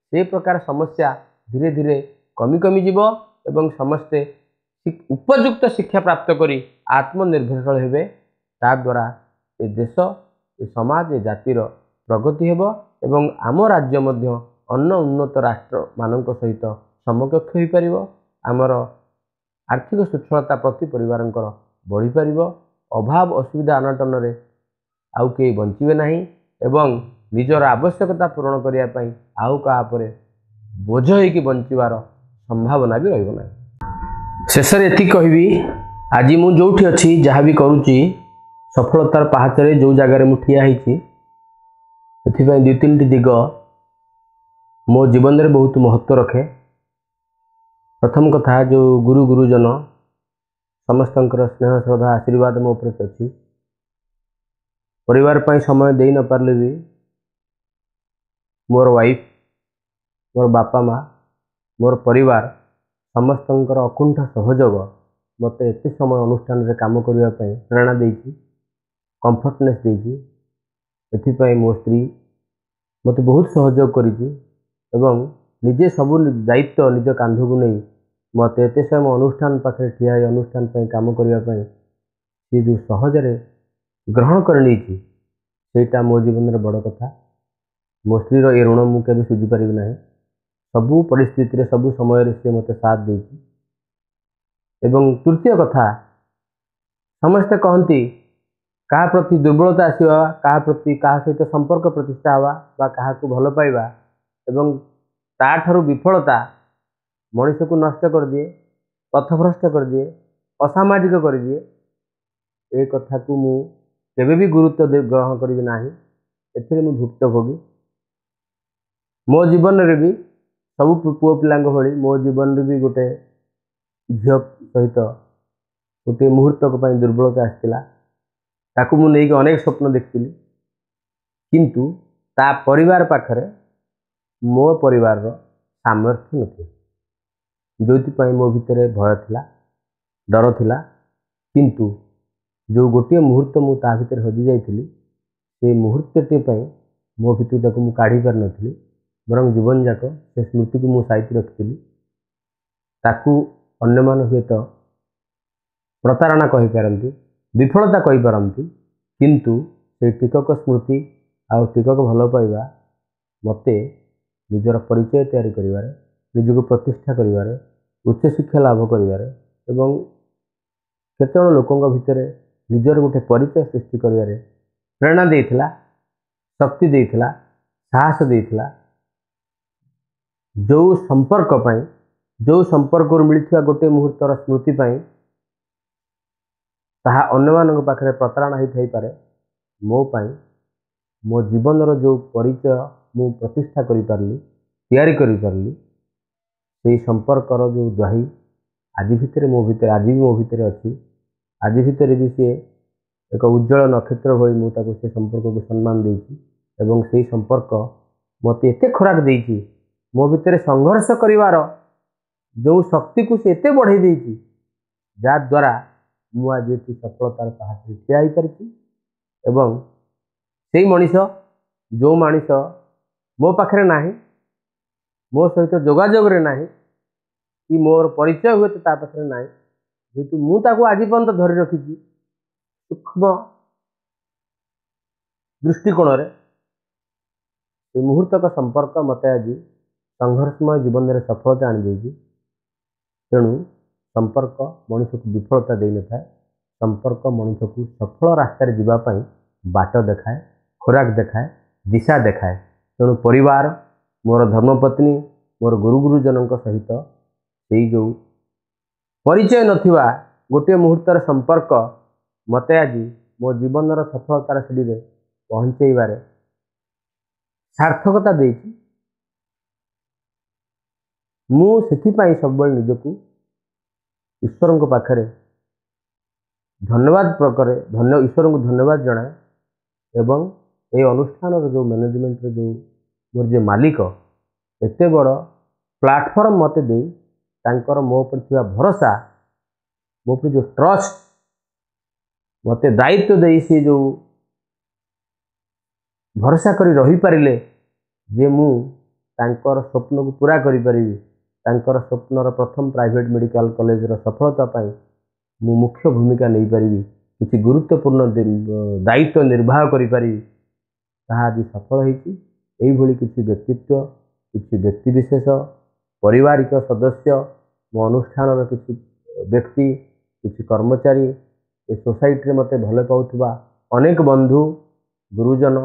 ସେ ପ୍ରକାର ସମସ୍ୟା ଧୀରେ ଧୀରେ କମି କମିଯିବ ଏବଂ ସମସ୍ତେ ଉପଯୁକ୍ତ ଶିକ୍ଷା ପ୍ରାପ୍ତ କରି ଆତ୍ମନିର୍ଭରଶୀଳ ହେବେ। ତାଦ୍ୱାରା ଏ ଦେଶ, ଏ ସମାଜ, ଏ ଜାତିର ପ୍ରଗତି ହେବ ଏବଂ ଆମ ରାଜ୍ୟ ମଧ୍ୟ ଅନ୍ୟ ଉନ୍ନତ ରାଷ୍ଟ୍ରମାନଙ୍କ ସହିତ ସମକକ୍ଷ ହୋଇପାରିବ। ଆମର ଆର୍ଥିକ ସ୍ୱଚ୍ଛଳତା ପ୍ରତି ପରିବାରଙ୍କର ବଢ଼ିପାରିବ। ଅଭାବ ଅସୁବିଧା ଅନାଟନରେ ଆଉ କେହି ବଞ୍ଚିବେ ନାହିଁ ଏବଂ ନିଜର ଆବଶ୍ୟକତା ପୂରଣ କରିବା ପାଇଁ ଆଉ କାହା ଉପରେ ବୋଝ ହେଇକି ବଞ୍ଚିବାର ସମ୍ଭାବନା ବି ରହିବ ନାହିଁ। ଶେଷରେ ଏତିକି କହିବି, ଆଜି ମୁଁ ଯେଉଁଠି ଅଛି, ଯାହା ବି କରୁଛି, ସଫଳତାର ପାହାଚରେ ଯେଉଁ ଜାଗାରେ ମୁଁ ଠିଆ ହେଇଛି, ଏଥିପାଇଁ ଦୁଇ ତିନିଟି ଦିଗ ମୋ ଜୀବନରେ ବହୁତ ମହତ୍ତ୍ୱ ରଖେ। ପ୍ରଥମ କଥା, ଯେଉଁ ଗୁରୁ ଗୁରୁଜନ ସମସ୍ତଙ୍କର ସ୍ନେହ ଶ୍ରଦ୍ଧା ଆଶୀର୍ବାଦ ମୋ ଉପରେ ଅଛି। ପରିବାର ପାଇଁ ସମୟ ଦେଇ ନପାରିଲେ ବି ମୋର ୱାଇଫ୍, ମୋର ବାପା ମା, ମୋର ପରିବାର ସମସ୍ତଙ୍କର ଅକୁଣ୍ଠ ସହଯୋଗ ମୋତେ ଏତେ ସମୟ ଅନୁଷ୍ଠାନରେ କାମ କରିବା ପାଇଁ ପ୍ରେରଣା ଦେଇଛି, କମ୍ଫର୍ଟନେସ୍ ଦେଇଛି। ଏଥିପାଇଁ ମୋ ସ୍ତ୍ରୀ ମୋତେ ବହୁତ ସହଯୋଗ କରିଛି ଏବଂ ନିଜେ ସବୁ ଦାୟିତ୍ୱ ନିଜ କାନ୍ଧକୁ ନେଇ ମୋତେ ଏତେ ସମୟ ଅନୁଷ୍ଠାନ ପାଖରେ ଠିଆ ହୋଇ ଅନୁଷ୍ଠାନ ପାଇଁ କାମ କରିବା ପାଇଁ ସିଏ ଯେଉଁ ସହଜରେ ଗ୍ରହଣ କରିନେଇଛି, ସେଇଟା ମୋ ଜୀବନରେ ବଡ଼ କଥା। ମୋ ସ୍ତ୍ରୀର ଏ ଋଣ ମୁଁ କେବେ ଶୁଝିପାରିବି ନାହିଁ। ସବୁ ପରିସ୍ଥିତିରେ, ସବୁ ସମୟରେ ସିଏ ମୋତେ ସାଥ ଦେଇଛି। ଏବଂ ତୃତୀୟ କଥା, ସମସ୍ତେ କହନ୍ତି କାହା ପ୍ରତି ଦୁର୍ବଳତା ଆସିବା, କାହା ପ୍ରତି କାହା ସହିତ ସମ୍ପର୍କ ପ୍ରତିଷ୍ଠା ହେବା ବା କାହାକୁ ଭଲ ପାଇବା ଏବଂ ତାଠାରୁ ବିଫଳତା ମଣିଷକୁ ନଷ୍ଟ କରିଦିଏ, ପଥଭ୍ରଷ୍ଟ କରିଦିଏ, ଅସାମାଜିକ କରିଦିଏ। ଏ କଥାକୁ ମୁଁ କେବେ ବି ଗୁରୁତ୍ୱ ଗ୍ରହଣ କରିବି ନାହିଁ। ଏଥିରେ ମୁଁ ଭୁକ୍ତଭୋଗୀ। ମୋ ଜୀବନରେ ବି ସବୁ ପୁଅ ପିଲାଙ୍କ ଭଳି ମୋ ଜୀବନରେ ବି ଗୋଟେ ଝିଅ ସହିତ ଗୋଟିଏ ମୁହୂର୍ତ୍ତକ ପାଇଁ ଦୁର୍ବଳତା ଆସିଥିଲା। ତାକୁ ମୁଁ ନେଇକି ଅନେକ ସ୍ୱପ୍ନ ଦେଖିଥିଲି, କିନ୍ତୁ ତା ପରିବାର ପାଖରେ ମୋ ପରିବାରର ସାମର୍ଥ୍ୟ ନଥିଲା, ଯେଉଁଥିପାଇଁ ମୋ ଭିତରେ ଭୟ ଥିଲା, ଡର ଥିଲା। କିନ୍ତୁ ଯେଉଁ ଗୋଟିଏ ମୁହୂର୍ତ୍ତ ମୁଁ ତା ଭିତରେ ହଜି ଯାଇଥିଲି, ସେଇ ମୁହୂର୍ତ୍ତଟି ପାଇଁ ମୋ ଭିତରୁ ତାକୁ ମୁଁ କାଢ଼ି ପାରିନଥିଲି, ବରଂ ଜୀବନଯାକ ସେ ସ୍ମୃତିକୁ ମୁଁ ସାଇତି ରଖିଥିଲି। ତାକୁ ଅନ୍ୟମାନେ ହୁଏତ ପ୍ରତାରଣା କହିପାରନ୍ତି, ବିଫଳତା କହିପାରନ୍ତି, କିନ୍ତୁ ସେଇ ଟିକକ ସ୍ମୃତି ଆଉ ଟିକକ ଭଲ ପାଇବା ମୋତେ ନିଜର ପରିଚୟ ତିଆରି କରିବାରେ, ନିଜକୁ ପ୍ରତିଷ୍ଠା କରିବାରେ, ଉଚ୍ଚଶିକ୍ଷା ଲାଭ କରିବାରେ ଏବଂ କେତେଜଣ ଲୋକଙ୍କ ଭିତରେ ନିଜର ଗୋଟେ ପରିଚୟ ସୃଷ୍ଟି କରିବାରେ ପ୍ରେରଣା ଦେଇଥିଲା, ଶକ୍ତି ଦେଇଥିଲା, ସାହସ ଦେଇଥିଲା। ଯେଉଁ ସମ୍ପର୍କ ପାଇଁ, ଯେଉଁ ସମ୍ପର୍କରୁ ମିଳିଥିବା ଗୋଟିଏ ମୁହୂର୍ତ୍ତର ସ୍ମୃତି ପାଇଁ ତାହା ଅନ୍ୟମାନଙ୍କ ପାଖରେ ପ୍ରତାରଣା ହେଇଥାଇପାରେ, ମୋ ପାଇଁ ମୋ ଜୀବନର ଯେଉଁ ପରିଚୟ ମୁଁ ପ୍ରତିଷ୍ଠା କରିପାରିଲି, ତିଆରି କରିପାରିଲି, ସେଇ ସମ୍ପର୍କର ଯେଉଁ ଦ୍ୱାହି ଆଜି ଭିତରେ ମୋ ଭିତରେ, ଆଜି ବି ମୋ ଭିତରେ ଅଛି। ଆଜି ଭିତରେ ବି ସିଏ ଏକ ଉଜ୍ଜଳ ନକ୍ଷତ୍ର ଭଳି ମୁଁ ତାକୁ ସେ ସମ୍ପର୍କକୁ ସମ୍ମାନ ଦେଇଛି ଏବଂ ସେଇ ସମ୍ପର୍କ ମୋତେ ଏତେ ଖୋରାକ ଦେଇଛି, ମୋ ଭିତରେ ସଂଘର୍ଷ କରିବାର ଯେଉଁ ଶକ୍ତିକୁ ସେ ଏତେ ବଢ଼େଇ ଦେଇଛି, ଯାହାଦ୍ୱାରା ମୁଁ ଆଜି ଏଠି ସଫଳତାର ପାହାଚରେ ଠିଆ ହୋଇପାରିଛି। ଏବଂ ସେଇ ମଣିଷ ଯେଉଁ ମଣିଷ ମୋ ପାଖରେ ନାହିଁ, ମୋ ସହିତ ଯୋଗାଯୋଗରେ ନାହିଁ କି ମୋର ପରିଚୟ ହୁଏତ ତା ପାଖରେ ନାହିଁ, ଯେହେତୁ ମୁଁ ତାକୁ ଆଜି ପର୍ଯ୍ୟନ୍ତ ଧରି ରଖିଛି ସୂକ୍ଷ୍ମ ଦୃଷ୍ଟିକୋଣରେ, ସେ ମୁହୂର୍ତ୍ତକ ସମ୍ପର୍କ ମୋତେ ଆଜି ସଂଘର୍ଷମୟ ଜୀବନରେ ସଫଳତା ଆଣିଦେଇଛି। ତେଣୁ ସମ୍ପର୍କ ମଣିଷକୁ ବିଫଳତା ଦେଇନଥାଏ, ସମ୍ପର୍କ ମଣିଷକୁ ସଫଳ ରାସ୍ତାରେ ଯିବା ପାଇଁ ବାଟ ଦେଖାଏ, ଖୋରାକ ଦେଖାଏ, ଦିଶା ଦେଖାଏ। ତେଣୁ ପରିବାର, ମୋର ଧର୍ମପତ୍ନୀ, ମୋର ଗୁରୁ ଗୁରୁଜନଙ୍କ ସହିତ ସେଇ ଯେଉଁ ପରିଚୟ ନଥିବା ଗୋଟିଏ ମୁହୂର୍ତ୍ତର ସମ୍ପର୍କ ମୋତେ ଆଜି ମୋ ଜୀବନର ସଫଳତାର ସିଡ଼ିରେ ପହଞ୍ଚେଇବାରେ ସାର୍ଥକତା ଦେଇଛି। ମୁଁ ସେଥିପାଇଁ ସବୁବେଳେ ନିଜକୁ ଈଶ୍ୱରଙ୍କ ପାଖରେ ଧନ୍ୟବାଦ ପ୍ରକରେ ଧନ୍ୟ ଈଶ୍ୱରଙ୍କୁ ଧନ୍ୟବାଦ ଜଣାଏ ଏବଂ ଏଇ ଅନୁଷ୍ଠାନର ଯେଉଁ ମ୍ୟାନେଜମେଣ୍ଟର ଯେଉଁ ମୋର ଯିଏ ମାଲିକ, ଏତେ ବଡ଼ ପ୍ଲାଟଫର୍ମ ମୋତେ ଦେଇ ତାଙ୍କର ମୋ ଉପରେ ଥିବା ଭରସା, ମୋ ଉପରେ ଯେଉଁ ଟ୍ରଷ୍ଟ, ମୋତେ ଦାୟିତ୍ୱ ଦେଇ ସିଏ ଯେଉଁ ଭରସା କରି ରହିପାରିଲେ ଯେ ମୁଁ ତାଙ୍କର ସ୍ୱପ୍ନକୁ ପୂରା କରିପାରିବି, ତାଙ୍କର ସ୍ୱପ୍ନର ପ୍ରଥମ ପ୍ରାଇଭେଟ୍ ମେଡ଼ିକାଲ କଲେଜର ସଫଳତା ପାଇଁ ମୁଁ ମୁଖ୍ୟ ଭୂମିକା ନେଇପାରିବି, କିଛି ଗୁରୁତ୍ୱପୂର୍ଣ୍ଣ ଦାୟିତ୍ୱ ନିର୍ବାହ କରିପାରିବି, ତାହା ଆଜି ସଫଳ ହେଇଛି। ଏଇଭଳି କିଛି ବ୍ୟକ୍ତିତ୍ୱ, କିଛି ବ୍ୟକ୍ତିବିଶେଷ, ପାରିବାରିକ ସଦସ୍ୟ, ମୋ ଅନୁଷ୍ଠାନର କିଛି ବ୍ୟକ୍ତି, କିଛି କର୍ମଚାରୀ, ଏ ସୋସାଇଟିରେ ମୋତେ ଭଲ ପାଉଥିବା ଅନେକ ବନ୍ଧୁ, ଗୁରୁଜନ,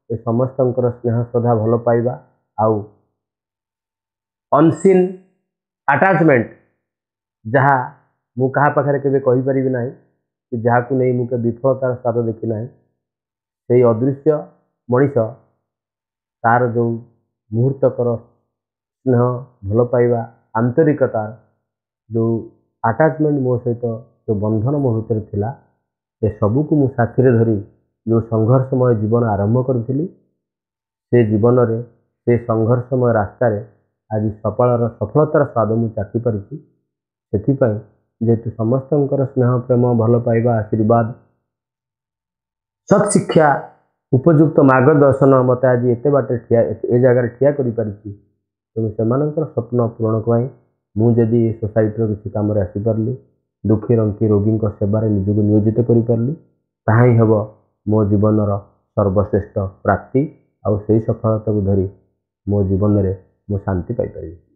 ଏ ସମସ୍ତଙ୍କର ସ୍ନେହ ଶ୍ରଦ୍ଧା, ଭଲ ପାଇବା ଆଉ ଅନସିନ୍ ଆଟାଚମେଣ୍ଟ, ଯାହା ମୁଁ କାହା ପାଖରେ କେବେ କହିପାରିବି ନାହିଁ କି ଯାହାକୁ ନେଇ ମୁଁ କେବେ ବିଫଳତାର ସ୍ୱାଦ ଦେଖି ନାହିଁ, ସେଇ ଅଦୃଶ୍ୟ ମଣିଷ ତାର ଯେଉଁ ମୁହୂର୍ତ୍ତକର ସ୍ନେହ, ଭଲ ପାଇବା, ଆନ୍ତରିକତା, ଯେଉଁ ଆଟାଚମେଣ୍ଟ ମୋ ସହିତ, ଯେଉଁ ବନ୍ଧନ ମୋ ଭିତରେ ଥିଲା, ଏସବୁକୁ ମୁଁ ସାଥିରେ ଧରି ଯେଉଁ ସଂଘର୍ଷମୟ ଜୀବନ ଆରମ୍ଭ କରିଥିଲି, ସେ ଜୀବନରେ, ସେ ସଂଘର୍ଷମୟ ରାସ୍ତାରେ ଆଜି ସଫଳର ସଫଳତାର ସ୍ୱାଦ ମୁଁ ଚାଖି ପାରିଛି। ସେଥିପାଇଁ ଯେହେତୁ ସମସ୍ତଙ୍କର ସ୍ନେହ, ପ୍ରେମ, ଭଲ ପାଇବା, ଆଶୀର୍ବାଦ, ସତ୍ ଶିକ୍ଷା, ଉପଯୁକ୍ତ ମାର୍ଗଦର୍ଶନ ମୋତେ ଆଜି ଏତେ ବାଟରେ ଠିଆ, ଏ ଜାଗାରେ ଠିଆ କରିପାରିଛି, ତେଣୁ ସେମାନଙ୍କର ସ୍ୱପ୍ନ ପୂରଣ ପାଇଁ ମୁଁ ଯଦି ଏ ସୋସାଇଟିର କିଛି କାମରେ ଆସିପାରିଲି, ଦୁଃଖୀ ରଙ୍କି ରୋଗୀଙ୍କ ସେବାରେ ନିଜକୁ ନିୟୋଜିତ କରିପାରିଲି, ତାହା ହିଁ ହେବ ମୋ ଜୀବନର ସର୍ବଶ୍ରେଷ୍ଠ ପ୍ରାପ୍ତି। ଆଉ ସେଇ ସଫଳତାକୁ ଧରି ମୋ ଜୀବନରେ ମୁଁ ଶାନ୍ତି ପାଇପାରିବି।